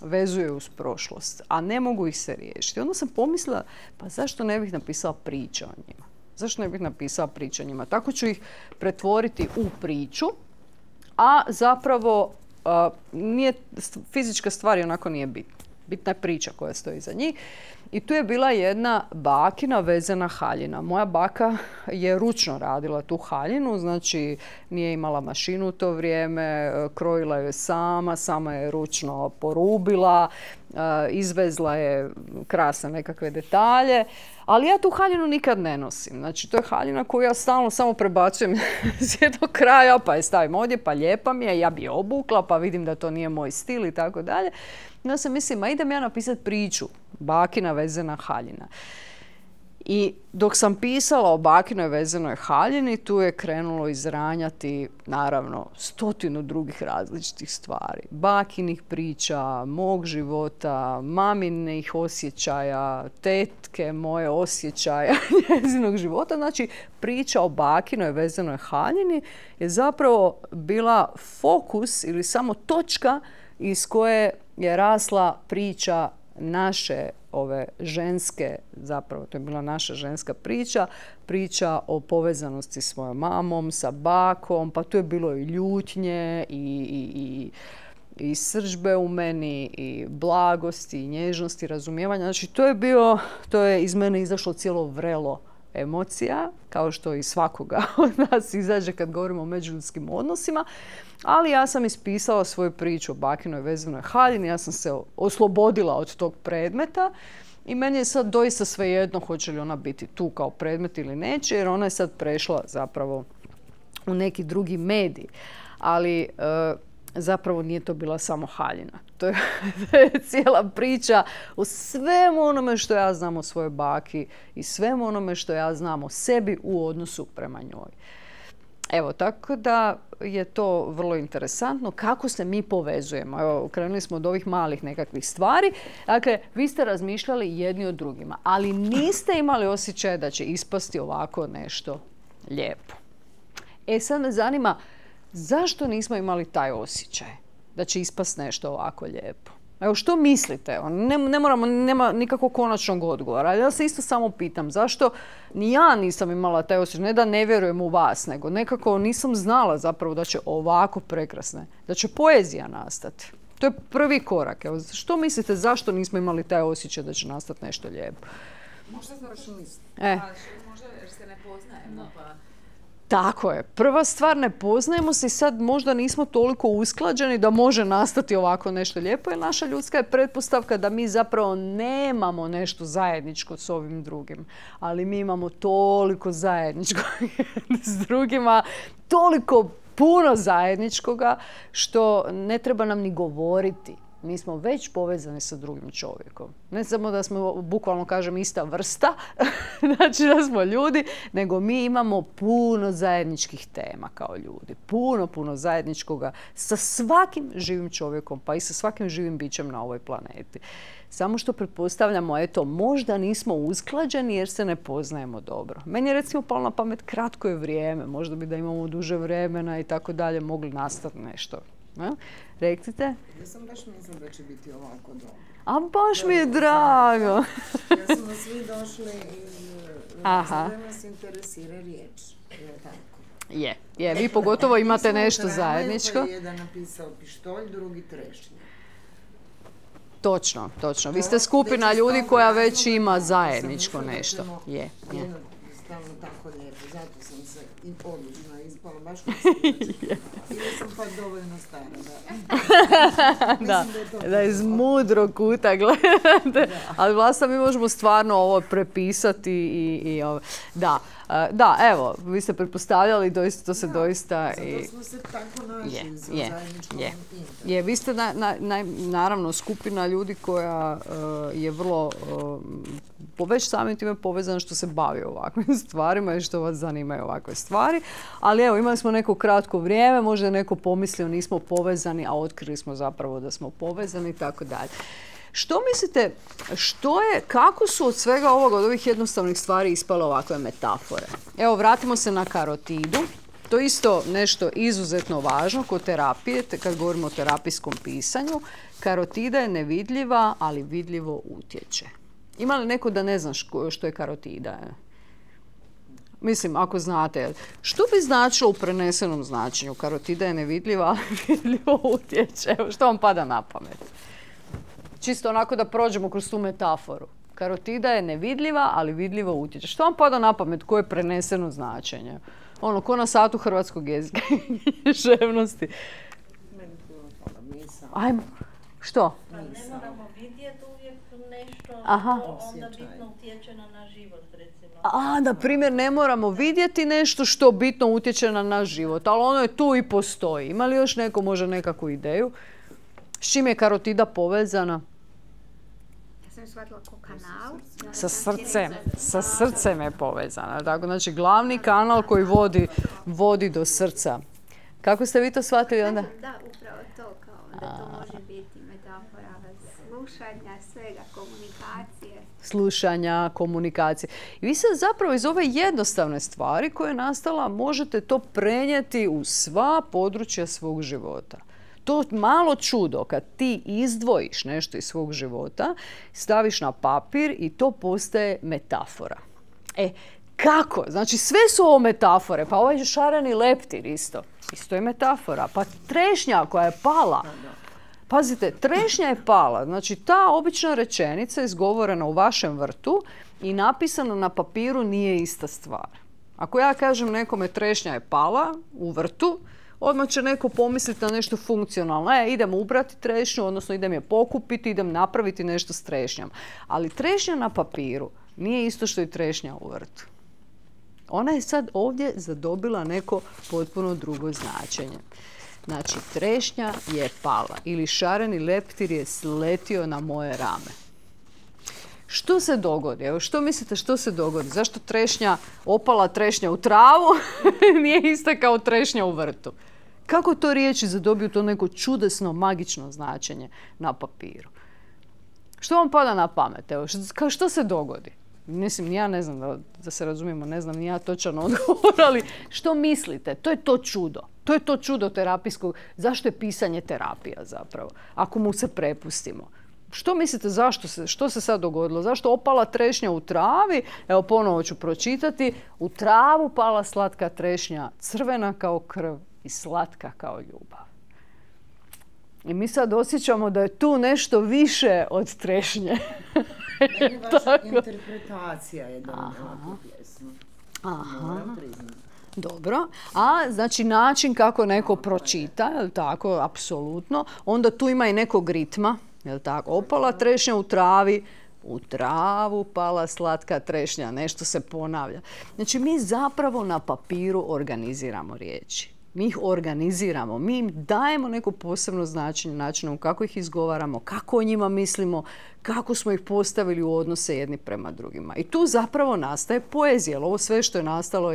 vezuje uz prošlost, a ne mogu ih se riješiti. Onda sam pomislila, pa zašto ne bih napisala priče o njima? Zašto ne bih napisala priče o njima? Tako ću ih pretvoriti u priču, a zapravo fizička stvar onako nije bitna. Bitna je priča koja stoji iza njih. I tu je bila jedna bakina vezana haljina. Moja baka je ručno radila tu haljinu, znači nije imala mašinu u to vrijeme, krojila je sama je ručno porubila, izvezla je krasne nekakve detalje, ali ja tu haljinu nikad ne nosim. Znači, to je haljina koju ja stalno samo prebacujem s jednog kraja, pa je stavim ovdje, pa lijepa mi je, ja bi je obukla, pa vidim da to nije moj stil i tako dalje. Ja sam mislim, idem ja napisati priču, bakina vezana haljina. I dok sam pisala o bakinoj vezanoj haljini, tu je krenulo izranjati, naravno, 100 drugih različitih stvari. Bakinih priča, mog života, maminih osjećaja, tetke moje osjećaja, njezinog života. Znači, priča o bakinoj vezanoj haljini je zapravo bila fokus ili samo točka iz koje je rasla priča naše ove ženske, zapravo to je bila naša ženska priča o povezanosti s svojom mamom, sa bakom, pa tu je bilo i ljutnje i srdžbe u meni i blagosti i nježnosti, razumijevanja. Znači to je iz mene izašlo cijelo vrelo emocija, kao što i svakoga od nas izađe kad govorimo o međuljudskim odnosima. Ali ja sam ispisala svoju priču o bakinoj vezanoj haljini, ja sam se oslobodila od tog predmeta I meni je sad doista svejedno hoće li ona biti tu kao predmet ili neće, jer ona je sad prešla zapravo u neki drugi medij. Ali zapravo nije to bila samo haljina. To je cijela priča o svemu onome što ja znam o svojoj baki i svemu onome što ja znam o sebi u odnosu prema njoj. Evo, tako da je to vrlo interesantno kako se mi povezujemo. Evo, krenuli smo od ovih malih nekakvih stvari. Dakle, vi ste razmišljali jedni o drugima, ali niste imali osjećaj da će ispasti ovako nešto lijepo. Sad me zanima, zašto nismo imali taj osjećaj da će ispasti nešto ovako lijepo? Evo, što mislite? Nema nikakvog konačnog odgovora. Ja se isto samo pitam, zašto ni ja nisam imala taj osjećaj, ne da ne vjerujem u vas, nego nekako nisam znala zapravo da će ovako prekrasne, da će poezija nastati. To je prvi korak. Evo, što mislite, zašto nismo imali taj osjećaj da će nastati nešto lijepo? Možda zato što možda jer se ne poznajemo, pa... Tako je. Prva stvar, ne poznajemo se i sad možda nismo toliko usklađeni da može nastati ovako nešto lijepo, jer naša ljudska je pretpostavka da mi zapravo nemamo nešto zajedničko s ovim drugim. Ali mi imamo toliko zajedničko s drugima, toliko puno zajedničkoga što ne treba nam ni govoriti. Mi smo već povezani sa drugim čovjekom. Ne samo da smo, bukvalno kažem, ista vrsta, znači da smo ljudi, nego mi imamo puno zajedničkih tema kao ljudi. Puno zajedničkoga sa svakim živim čovjekom, pa i sa svakim živim bićem na ovoj planeti. Samo što pretpostavljamo, eto, možda nismo usklađeni jer se ne poznajemo dobro. Meni je recimo palo na pamet, kratko je vrijeme, možda bi da imamo duže vremena i tako dalje, mogli nastati nešto. Recite? Ja sam baš mislim da će biti ovako dobro. A baš mi je drago. Ja smo svi došli iz razloga nas interesira riječ. Je tako? Je. Vi pogotovo imate nešto zajedničko. Pa jedan napisao pištolj, drugi trešnje. Točno. Vi ste skupina ljudi koja već ima zajedničko nešto. Je. Jednostavno tako lijepo. Zato sam se i odlično ispala. Baš ili sam pa dovoljno stara. Da iz mudrog kuta gledate. Ali Vlasta, mi možemo stvarno ovo prepisati i ovo. Da, evo, vi ste pretpostavljali, doista, to se doista... Zato smo se tako našli za zajedničkom interesu. Vi ste naravno skupina ljudi koja je vrlo već samim time povezana što se bavi ovakvim stvarima i što vas zanimaju ovakve stvari. Ali evo, imali smo neko kratko vrijeme, možda je neko pomislio nismo povezani, a otkrili smo zapravo da smo povezani i tako dalje. Što mislite, kako su od svega ovoga, od ovih jednostavnih stvari ispale ovakve metafore? Evo, vratimo se na karotidu. To je isto nešto izuzetno važno kod terapije, kad govorimo o terapijskom pisanju. Karotida je nevidljiva, ali vidljivo utječe. Ima li neko da ne zna što je karotida? Mislim, ako znate. Što bi značilo u prenesenom značenju? Karotida je nevidljiva, ali vidljivo utječe. Evo, što vam pada na pamet? Čisto onako da prođemo kroz tu metaforu. Karotida je nevidljiva, ali vidljivo utječe. Što vam pada na pamet? Koje je preneseno značenje? Ko na satu hrvatskog jezika i književnosti. Meni puno toga misao. Ajmo. Što? Pa ne moramo vidjeti uvijek nešto, onda bitno utječe na naš život, recimo. Na primjer, ne moramo vidjeti nešto što bitno utječe na naš život, ali ono je tu i postoji. Ima li još neko možda nekakvu ideju? S čim je karotida povezana? Sam shvatila ko kanal. Sa srcem je povezana. Tako, znači, glavni kanal koji vodi do srca. Kako ste vi to shvatili onda? Da, upravo to, kao da to može biti metafora slušanja, svega, komunikacije. Slušanja, komunikacije. I vi se zapravo iz ove jednostavne stvari koja je nastala možete to prenijeti u sva područja svog života. To malo čudo kad ti izdvojiš nešto iz svog života, staviš na papir i to postaje metafora. Kako? Znači sve su ovo metafore. Pa ovaj šareni leptir isto je metafora. Pa trešnja koja je pala. Pazite, trešnja je pala. Znači ta obična rečenica izgovorena u vašem vrtu i napisana na papiru nije ista stvar. Ako ja kažem nekome trešnja je pala u vrtu, odmah će neko pomisliti na nešto funkcionalno. Idem ubrati trešnju, odnosno idem je pokupiti, idem napraviti nešto s trešnjom. Ali trešnja na papiru nije isto što i trešnja u vrtu. Ona je sad ovdje zadobila neko potpuno drugo značenje. Znači, trešnja je pala ili šareni leptir je sletio na moje rame. Što se dogodi? Evo, što mislite što se dogodi? Zašto opala trešnja u travu nije ista kao trešnja u vrtu? Kako to riječi zadobiju to neko čudesno, magično značenje na papiru? Što vam pada na pamet? Evo, što se dogodi? Mislim, ja ne znam, da se razumijemo, ne znam ni ja točan odgovor, ali što mislite? To je to čudo. To je to čudo terapijskog. Zašto je pisanje terapija zapravo? Ako mu se prepustimo. Što mislite što se sad dogodilo? Zašto opala trešnja u travi? Evo, ponovo ću pročitati. U travu pala slatka trešnja, crvena kao krv i slatka kao ljubav. I mi sad osjećamo da je tu nešto više od trešnje. Meni vaša interpretacija je da tu pjesmu. Moram priznati. Dobro. A, znači, način kako neko pročita, je li tako, apsolutno. Onda tu ima i nekog ritma, je li tako. Opala trešnja u travi, u travu pala slatka trešnja, nešto se ponavlja. Znači, mi zapravo na papiru organiziramo riječi. Mi ih organiziramo, mi im dajemo neko posebno značenje načinom kako ih izgovaramo, kako o njima mislimo, kako smo ih postavili u odnose jedni prema drugima. I tu zapravo nastaje poezija. Ovo sve što je nastalo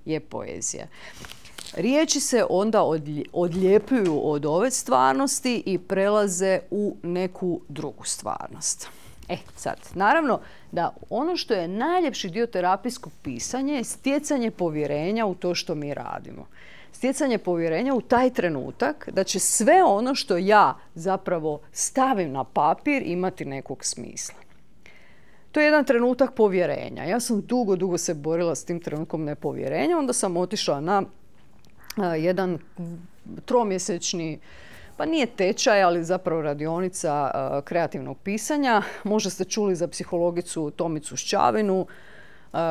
je poezija. Riječi se onda odljepljuju od ove stvarnosti i prelaze u neku drugu stvarnost. Sad, naravno da ono što je najljepši dio terapijskog pisanja je stjecanje povjerenja u to što mi radimo. Stjecanje povjerenja u taj trenutak da će sve ono što ja zapravo stavim na papir imati nekog smisla. To je jedan trenutak povjerenja. Ja sam dugo se borila s tim trenutkom nepovjerenja. Onda sam otišla na jedan 3-mjesečni, pa nije tečaj, ali zapravo radionica kreativnog pisanja. Možda ste čuli za psihologicu Tomicu Šćavinu.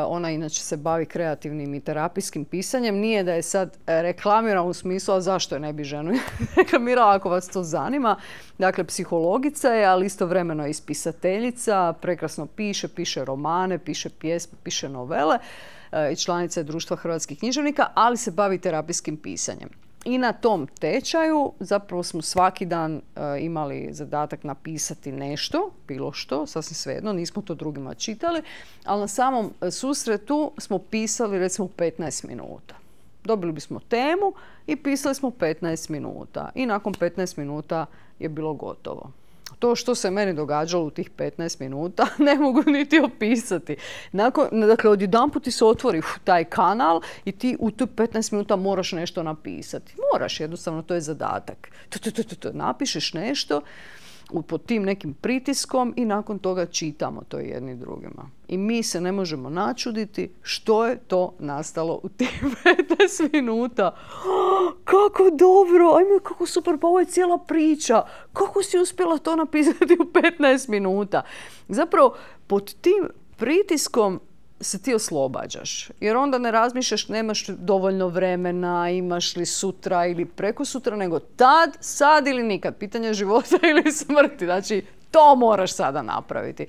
Ona inače se bavi kreativnim i terapijskim pisanjem. Nije da je sad reklamira u smislu, a zašto je ne bi ženu reklamirala ako vas to zanima. Dakle, psihologica je, ali istovremeno i spisateljica. Prekrasno piše romane, piše pjesme, piše novele. I članica je Društva hrvatskih književnika, ali se bavi terapijskim pisanjem. I na tom tečaju zapravo smo svaki dan imali zadatak napisati nešto, bilo što, sasvim svejedno, nismo to drugima čitali, ali na samom susretu smo pisali recimo 15 minuta. Dobili bismo temu i pisali smo 15 minuta. I nakon 15 minuta je bilo gotovo. To što se meni događalo u tih 15 minuta ne mogu niti opisati. Dakle, odjedanput ti se otvori taj kanal i ti u tu 15 minuta moraš nešto napisati. Moraš, jednostavno, to je zadatak. Napišeš nešto pod tim nekim pritiskom i nakon toga čitamo to jedni drugima. I mi se ne možemo načuditi što je to nastalo u tih 15 minuta. Kako dobro, ajme, kako super, pa ovo je cijela priča. Kako si uspjela to napisati u 15 minuta? Zapravo, pod tim pritiskom se ti oslobađaš. Jer onda ne razmišljaš, nemaš dovoljno vremena, imaš li sutra ili preko sutra, nego tad, sad ili nikad. Pitanje života ili smrti. Znači, to moraš sada napraviti.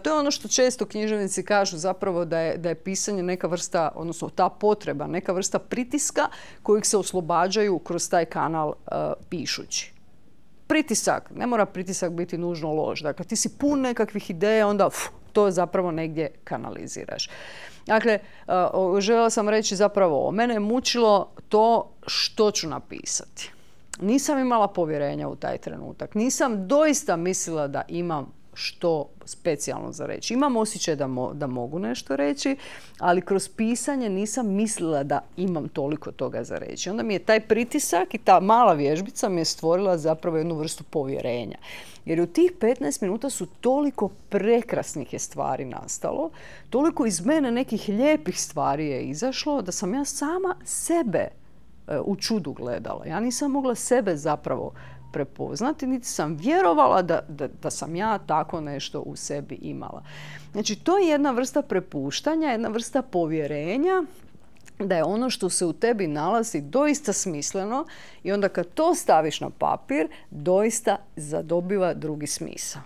To je ono što često književnici kažu zapravo da je pisanje neka vrsta, odnosno ta potreba, neka vrsta pritiska kojeg se oslobađaju kroz taj kanal pišući. Pritisak, ne mora pritisak biti nužno loš. Dakle, ti si pun nekakvih ideja, onda to zapravo negdje kanaliziraš. Dakle, željela sam reći zapravo ovo. Mene je mučilo to što ću napisati. Nisam imala povjerenja u taj trenutak. Nisam doista mislila da imam što specijalno za reći. Imam osjećaj da mogu nešto reći, ali kroz pisanje nisam mislila da imam toliko toga za reći. Onda mi je taj pritisak i ta mala vježbica mi je stvorila zapravo jednu vrstu povjerenja. Jer u tih 15 minuta su toliko prekrasnih je stvari nastalo, toliko iz mene nekih lijepih stvari je izašlo da sam ja sama sebe u čudu gledala. Ja nisam mogla sebe zapravo prepoznati, niti sam vjerovala da sam ja tako nešto u sebi imala. Znači, to je jedna vrsta prepuštanja, jedna vrsta povjerenja da je ono što se u tebi nalazi doista smisleno i onda kad to staviš na papir, doista zadobiva drugi smisao.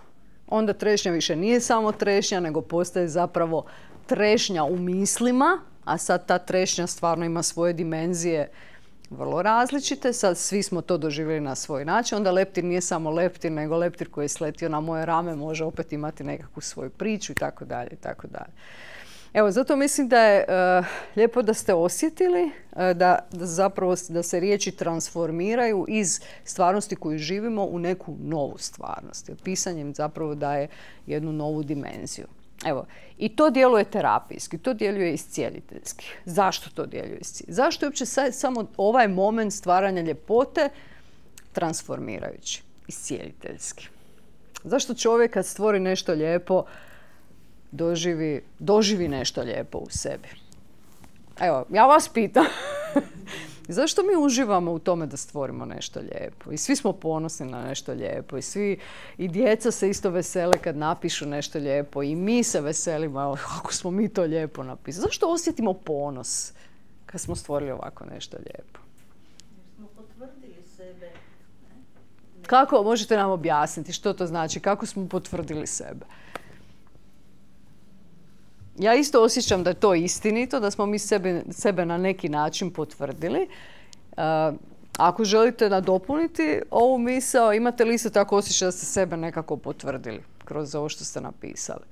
Onda trešnja više nije samo trešnja, nego postaje zapravo trešnja u mislima, a sad ta trešnja stvarno ima svoje dimenzije vrlo različite. Sad svi smo to doživjeli na svoj način. Onda leptir nije samo leptir, nego leptir koji je sletio na moje rame može opet imati nekakvu svoju priču i tako dalje i tako dalje. Evo, zato mislim da je lijepo da ste osjetili da se riječi transformiraju iz stvarnosti koju živimo u neku novu stvarnost. Jer pisanjem zapravo daje jednu novu dimenziju. Evo, i to djeluje terapijski, to djeluje iscijeliteljski. Zašto to djeluje iscijeliteljski? Zašto je uopće samo ovaj moment stvaranja ljepote transformirajući, iscijeliteljski? Zašto čovjek kad stvori nešto lijepo doživi nešto lijepo u sebi? Evo, ja vas pitam. Zašto mi uživamo u tome da stvorimo nešto lijepo? I svi smo ponosni na nešto lijepo. I djeca se isto vesele kad napišu nešto lijepo. I mi se veselimo kako smo mi to lijepo napisali. Zašto osjetimo ponos kad smo stvorili ovako nešto lijepo? Jer smo potvrdili sebe. Kako? Možete nam objasniti što to znači? Kako smo potvrdili sebe? Ja isto osjećam da je to istinito, da smo mi sebe na neki način potvrdili. Ako želite nadopuniti ovu misao, imate li isto tako osjećaj da ste sebe nekako potvrdili kroz ovo što ste napisali?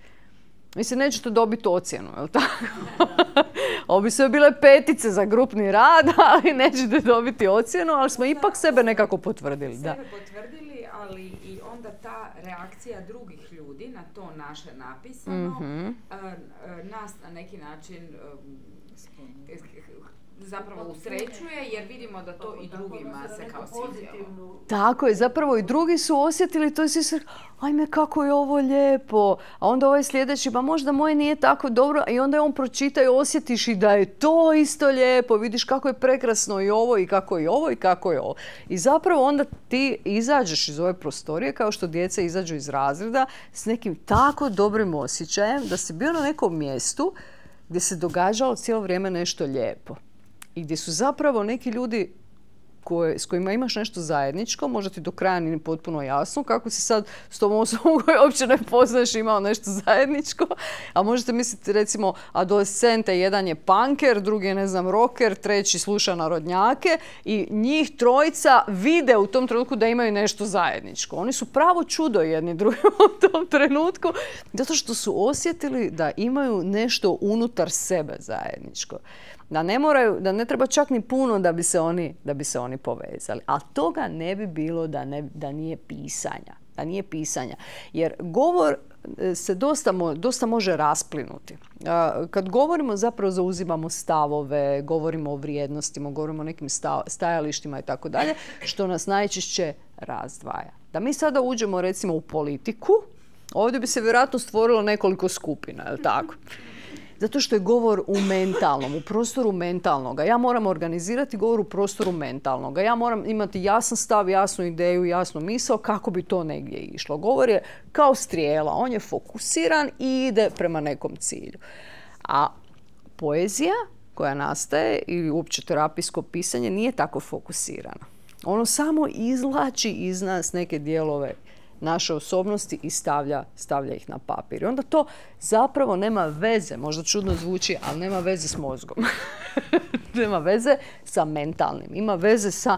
Mislim, nećete dobiti ocjenu, je li tako? Ovo bi sve bile 5 za grupni rad, ali nećete dobiti ocjenu, ali smo ipak sebe nekako potvrdili. Sebe potvrdili, ali i onda ta reakcija drugih ljudi na to naše napisano, nas na neki način zapravo usrećuje, jer vidimo da to i drugima se kao svidjelo. Tako je, zapravo i drugi su osjetili to i svi su, ajme kako je ovo lijepo, a onda ovaj sljedeći, pa možda moje nije tako dobro, i onda je on pročita i osjetiš i da je to isto lijepo, vidiš kako je prekrasno i ovo i kako je ovo i kako je ovo. I zapravo onda ti izađeš iz ove prostorije kao što djeca izađu iz razreda s nekim tako dobrim osjećajem da si bio na nekom mjestu gdje se događalo cijelo vrijeme nešto lijepo. I gdje su zapravo neki ljudi s kojima imaš nešto zajedničko, možda ti do kraja nije potpuno jasno kako si sad s tom osobom koju uopće ne poznaš imao nešto zajedničko, a možete misliti recimo adolescente, jedan je punker, drugi je rocker, treći sluša narodnjake i njih trojica vide u tom trenutku da imaju nešto zajedničko. Oni su pravo čudo jedni drugim u tom trenutku zato što su osjetili da imaju nešto unutar sebe zajedničko. Da ne treba čak ni puno da bi se oni povezali. Ali toga ne bi bilo da nije pisanja. Jer govor se dosta može rasplinuti. Kad govorimo, zapravo zauzimamo stavove, govorimo o vrijednostima, govorimo o nekim stajalištima i tako dalje, što nas najčešće razdvaja. Da mi sada uđemo recimo u politiku, ovdje bi se vjerojatno stvorilo nekoliko skupina, je li tako? Zato što je govor u mentalnom, u prostoru mentalnoga. Ja moram organizirati govor u prostoru mentalnoga. Ja moram imati jasan stav, jasnu ideju, jasnu misao kako bi to negdje išlo. Govor je kao strijela, on je fokusiran i ide prema nekom cilju. A poezija koja nastaje i uopće terapijsko pisanje nije tako fokusirano. Ono samo izvlači iz nas neke dijelove naše osobnosti i stavlja ih na papir. I onda to zapravo nema veze, možda čudno zvuči, ali nema veze s mozgom. Nema veze sa mentalnim, ima veze sa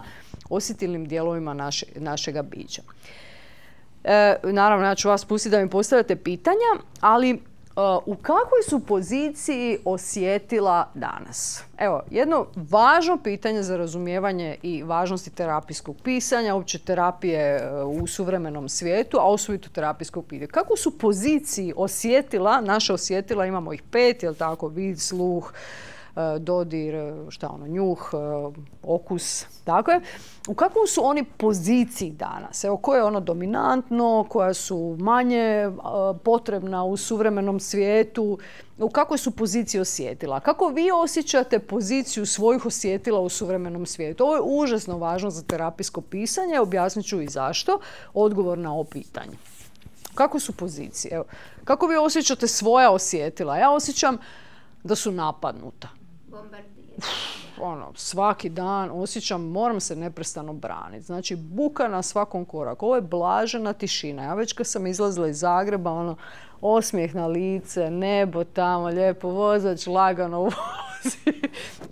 osjetilnim dijelovima našega bića. Naravno, ja ću vas pustiti da mi postavljate pitanja, ali u kakvoj su poziciji osjetila danas? Evo, jedno važno pitanje za razumijevanje i važnosti terapijskog pisanja, uopće terapije u suvremenom svijetu, a osobito terapijskog pitanja. Kako su poziciji osjetila, naša osjetila, imamo ih 5, jel tako, vid, sluh, dodir, njuh, okus, tako je. U kakvom su oni poziciji danas? Evo, koje je ono dominantno, koja su manje potrebna u suvremenom svijetu, u kakvoj su poziciji osjetila? Kako vi osjećate poziciju svojih osjetila u suvremenom svijetu? Ovo je užasno važno za terapijsko pisanje, objasnit ću i zašto. Odgovor na ovo pitanje. Kako su pozicije? Evo, kako vi osjećate svoja osjetila? Ja osjećam da su napadnuta. Svaki dan osjećam, moram se neprestano braniti. Znači, buka na svakom koraku. Ovo je blažena tišina. Ja već kad sam izlazila iz Zagreba, osmijeh na lice, nebo tamo, lijepo vozač, lagano vozi.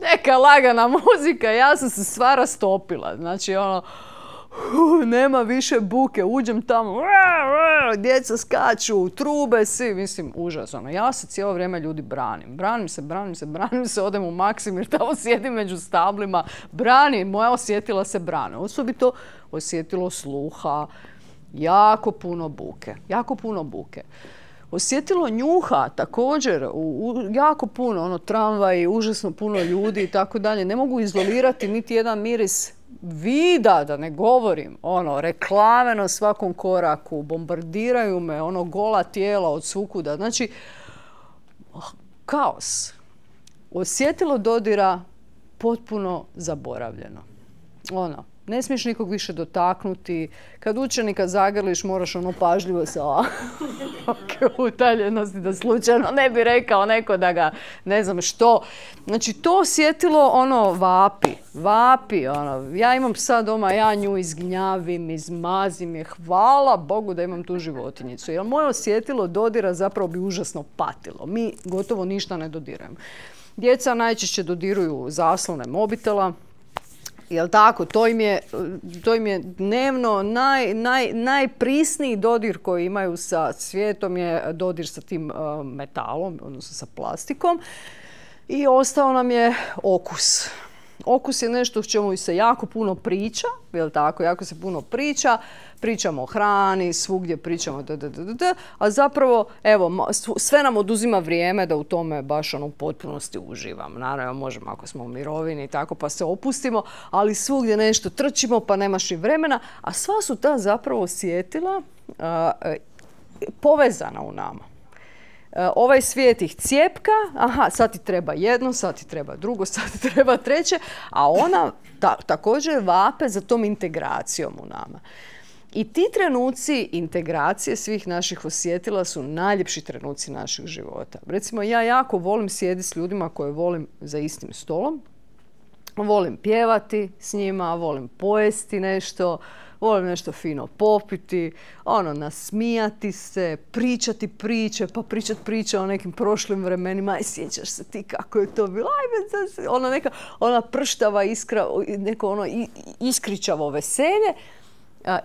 Neka lagana muzika, ja sam se sva rastopila. Znači, nema više buke, uđem tamo, djeca skaču, trube svi, mislim, užasno. Ja se cijelo vrijeme ljudi branim. Branim se, odem u Maksimir, tamo sjedim među stablima, moja osjetila se brane. Osobito osjetilo sluha, jako puno buke. Osjetilo njuha također, jako puno, tramvaji, užasno puno ljudi i tako dalje. Ne mogu izolirati niti jedan miris vida, da ne govorim, reklame na svakom koraku, bombardiraju me, gola tijela od svukuda. Znači, kaos. Osjetilo dodira potpuno zaboravljeno. Ne smiješ nikog više dotaknuti. Kad učenika zagrliš, moraš pažljivo se utaljenosti da slučajno ne bi rekao neko da ga ne znam što. Znači, to osjetilo vapi. Ja imam psa doma, ja nju izgnjavim, izmazim je. Hvala Bogu da imam tu životinjicu. Jer moje osjetilo dodira zapravo bi užasno patilo. Mi gotovo ništa ne dodiramo. Djeca najčešće dodiruju zaslone mobitela. Jel tako? To im je dnevno najprisniji dodir koji imaju sa svijetom je dodir sa tim metalom, odnosno sa plastikom. I ostao nam je okus. Okus je nešto o čemu se jako puno priča, jel tako? Jako se puno priča. Pričamo o hrani, svugdje pričamo a zapravo, evo, sve nam oduzima vrijeme da u tome baš u potpunosti uživam. Naravno, možemo ako smo u mirovini i tako pa se opustimo, ali svugdje nešto trčimo pa nemaš i vremena, a sva su ta zapravo osjetila povezana u nama. Ovaj svijet ih cjepka, sad ti treba jedno, sad ti treba drugo, sad ti treba treće, a ona također vape za tom integracijom u nama. I ti trenuci integracije svih naših osjetila su najljepši trenuci naših života. Recimo, ja jako volim sjediti s ljudima koje volim za istim stolom. Volim pjevati s njima, volim pojesti nešto, volim nešto fino popiti, nasmijati se, pričati priče, pa pričati priče o nekim prošlim vremenima. Aj, sjećaš se ti kako je to bilo? Ona prštava iskra, neko iskričavo veselje.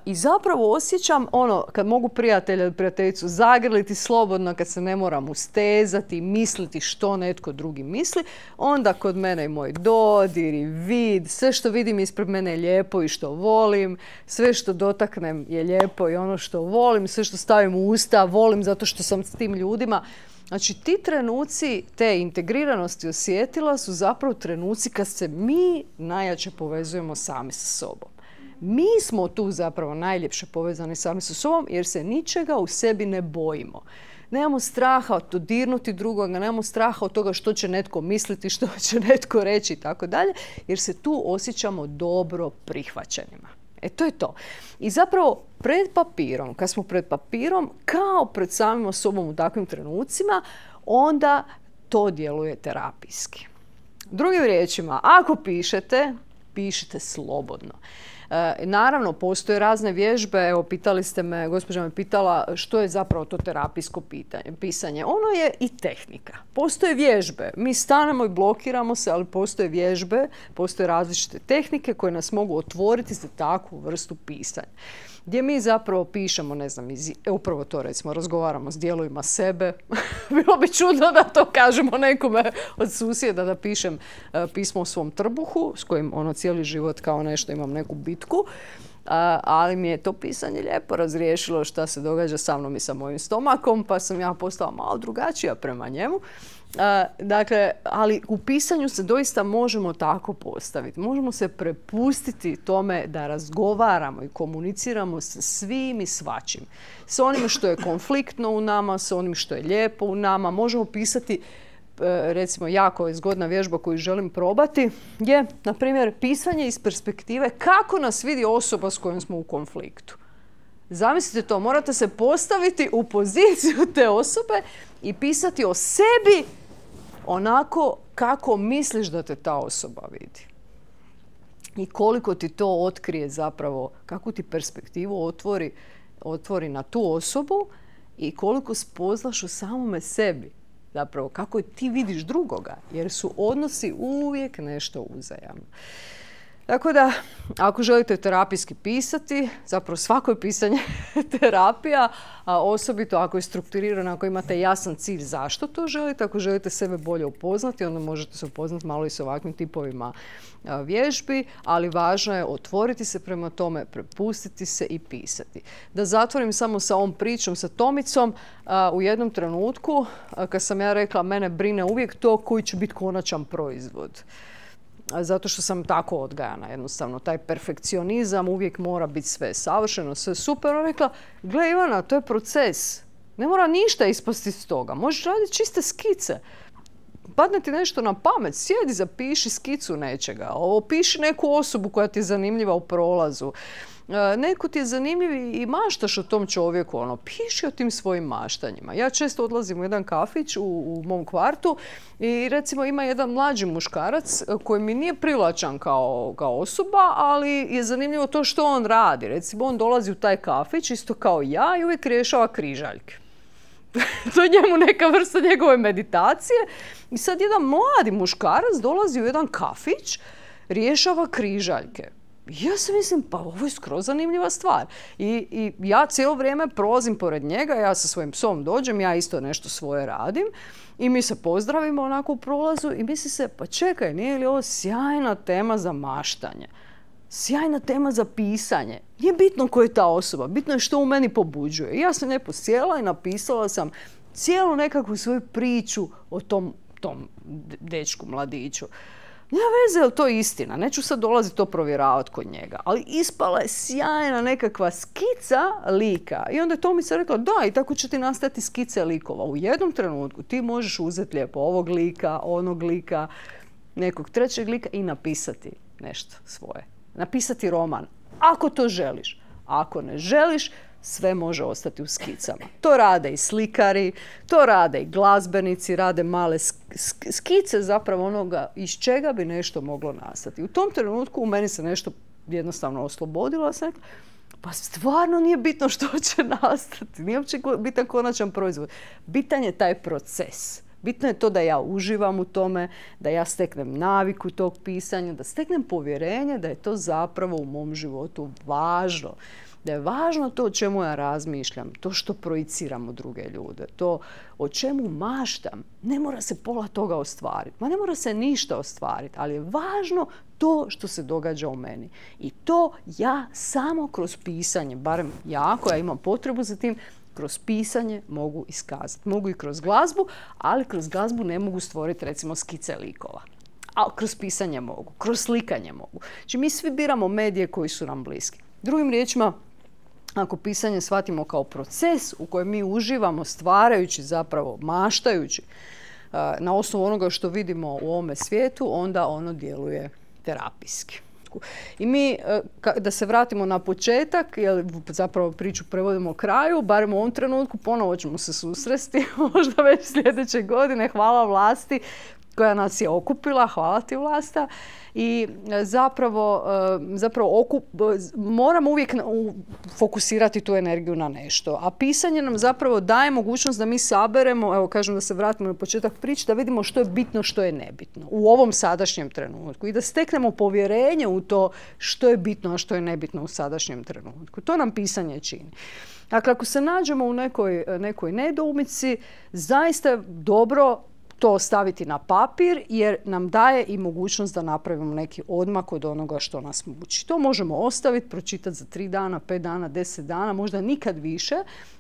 I zapravo osjećam kad mogu prijatelja ili prijateljicu zagrliti slobodno, kad se ne moram ustezati, misliti što netko drugi misli, onda kod mene i moj dodir i vid, sve što vidim ispred mene je lijepo i što volim, sve što dotaknem je lijepo i ono što volim, sve što stavim u usta volim zato što sam s tim ljudima. Znači, ti trenuci te integriranosti osjetila su zapravo trenuci kad se mi najjače povezujemo sami sa sobom. Mi smo tu zapravo najljepše povezani sami sa sobom jer se ničega u sebi ne bojimo. Nemamo straha od dodirnuti drugoga, nemamo straha od toga što će netko misliti, što će netko reći i tako dalje, jer se tu osjećamo dobro prihvaćenima. To je to. I zapravo pred papirom, kad smo pred papirom, kao pred samim sobom u takvim trenucima, onda to djeluje terapijski. Drugim riječima, ako pišite slobodno. Naravno, postoje razne vježbe. Evo, pitali ste me, gospođa me pitala što je zapravo to terapijsko pisanje. Ono je i tehnika. Postoje vježbe. Mi stanemo i blokiramo se, ali postoje vježbe, postoje različite tehnike koje nas mogu otvoriti za takvu vrstu pisanja. Gdje mi zapravo pišemo, ne znam, upravo to recimo, razgovaramo s dijelovima sebe. Bilo bi čudno da to kažemo nekome od susjeda da pišem pismo o svom trbuhu, s kojim cijeli život kao nešto imam neku bitku. Ali mi je to pisanje lijepo razriješilo šta se događa sa mnom i sa mojim stomakom, pa sam ja postala malo drugačija prema njemu. Dakle, ali u pisanju se doista možemo tako postaviti. Možemo se prepustiti tome da razgovaramo i komuniciramo sa svim i svačim. S onim što je konfliktno u nama, s onim što je lijepo u nama. Možemo pisati, recimo, jako zgodna vježba koju želim probati je, na primjer, pisanje iz perspektive kako nas vidi osoba s kojom smo u konfliktu. Zamislite to, morate se postaviti u poziciju te osobe i pisati o sebi onako kako misliš da te ta osoba vidi. I koliko ti to otkrije zapravo, kakvu ti perspektivu otvori na tu osobu i koliko spoznaš u samome sebi. Zapravo, kako ti vidiš drugoga, jer su odnosi uvijek nešto uzajamno. Tako da, ako želite terapijski pisati, zapravo svako je pisanje terapija, a osobito ako je strukturirano, ako imate jasan cilj zašto to želite, ako želite sebe bolje upoznati, onda možete se upoznati malo i s ovakvim tipovima vježbi, ali važno je otvoriti se prema tome, prepustiti se i pisati. Da zatvorim samo sa ovom pričom sa Tomicom, u jednom trenutku, kad sam ja rekla, mene brine uvijek to koji će biti konačan proizvod. Zato što sam tako odgajana, jednostavno. Taj perfekcionizam uvijek mora biti sve savršeno, sve super. Ona rekla, gle Ivana, to je proces. Ne mora ništa ispasti iz toga. Možeš raditi čiste skice. Padne ti nešto na pamet, sjedi, zapiši skicu nečega. Opiši neku osobu koja ti je zanimljiva u prolazu. Neko ti je zanimljiv i maštaš o tom čovjeku, piši o tim svojim maštanjima. Ja često odlazim u jedan kafić u mom kvartu i recimo ima jedan mlađi muškarac koji mi nije privlačan kao osoba, ali je zanimljivo to što on radi. Recimo on dolazi u taj kafić isto kao ja i uvijek rješava križaljke. To je njemu neka vrsta njegove meditacije. I sad jedan mladi muškarac dolazi u jedan kafić, rješava križaljke. Ja se mislim, pa ovo je skroz zanimljiva stvar. I ja cijelo vrijeme prolazim pored njega, ja sa svojim psom dođem, ja isto nešto svoje radim i mi se pozdravimo onako u prolazu i misli se, pa čekaj, nije li ovo sjajna tema za maštanje? Sjajna tema za pisanje. Nije bitno ko je ta osoba, bitno je što u meni pobuđuje. I ja sam lijepo sjela i napisala sam cijelu nekakvu svoju priču o tom dečku, mladiću. Nema veze, je li to istina? Neću sad dolaziti to provjeravati kod njega. Ali ispala je sjajna nekakva skica lika. I onda je Tomica rekla, da, i tako će ti nastati skice likova. U jednom trenutku ti možeš uzeti lijepo ovog lika, onog lika, nekog trećeg lika i napisati nešto svoje. Napisati roman. Ako to želiš. Ako ne želiš, sve može ostati u skicama. To rade i slikari, to rade i glazbenici, rade male skice zapravo onoga iz čega bi nešto moglo nastati. U tom trenutku u meni se nešto jednostavno oslobodilo. Sam rekla, pa stvarno nije bitno što će nastati. Nije uopće bitan konačan proizvod. Bitan je taj proces. Bitno je to da ja uživam u tome, da ja steknem naviku tog pisanja, da steknem povjerenje da je to zapravo u mom životu važno. Da je važno to o čemu ja razmišljam, to što projiciram u druge ljude, to o čemu maštam. Ne mora se pola toga ostvariti, ma ne mora se ništa ostvariti, ali je važno to što se događa u meni. I to ja samo kroz pisanje, barem ja koja imam potrebu za tim, kroz pisanje mogu iskazati. Mogu i kroz glazbu, ali kroz glazbu ne mogu stvoriti recimo skice likova. A kroz pisanje mogu, kroz slikanje mogu. Znači mi svi biramo medije koji su nam bliski. Drugim riječima, ako pisanje shvatimo kao proces u kojem mi uživamo stvarajući zapravo, maštajući na osnovu onoga što vidimo u ovome svijetu, onda ono djeluje terapijski. I mi, da se vratimo na početak, jer zapravo priču prevodimo kraju, barem u ovom trenutku, ponovo ćemo se susresti, možda već sljedeće godine, hvala vlasti koja nas je okupila, hvala ti Vlasta. I zapravo moramo uvijek fokusirati tu energiju na nešto. A pisanje nam zapravo daje mogućnost da mi saberemo, evo kažem da se vratimo na početak priče, da vidimo što je bitno, što je nebitno u ovom sadašnjem trenutku i da steknemo povjerenje u to što je bitno, a što je nebitno u sadašnjem trenutku. To nam pisanje čini. Dakle, ako se nađemo u nekoj nedoumici, zaista je dobro to staviti na papir jer nam daje i mogućnost da napravimo neki odmak od onoga što nas muči. To možemo ostaviti, pročitati za 3 dana, 5 dana, 10 dana, možda nikad više,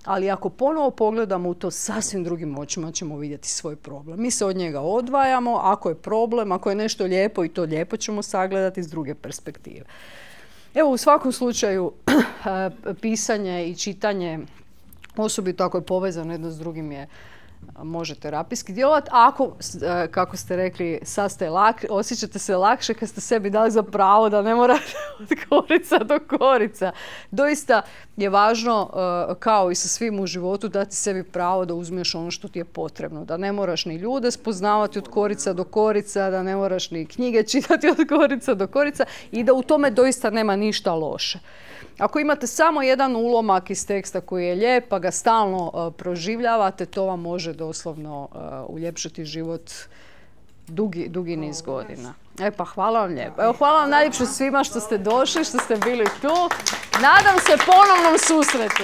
ali ako ponovo pogledamo u to sasvim drugim očima ćemo vidjeti svoj problem. Mi se od njega odvajamo, ako je problem, ako je nešto lijepo i to lijepo ćemo sagledati iz druge perspektive. Evo, u svakom slučaju pisanje i čitanje, osobito ako je povezano jedno s drugim, je može terapijski djelovati. Ako, kako ste rekli, osjećate se lakše kad ste sebi dali za pravo da ne morate od korica do korica. Doista je važno, kao i sa svim u životu, dati sebi pravo da uzmeš ono što ti je potrebno. Da ne moraš ni ljude spoznavati od korica do korica, da ne moraš ni knjige čitati od korica do korica i da u tome doista nema ništa loše. Ako imate samo jedan ulomak iz teksta koji je lijep, pa ga stalno proživljavate, to vam može doslovno uljepšati život dugi niz godina. Pa hvala vam lijepo. Evo, hvala vam najljepše svima što ste došli, što ste bili tu. Nadam se ponovnom susretu.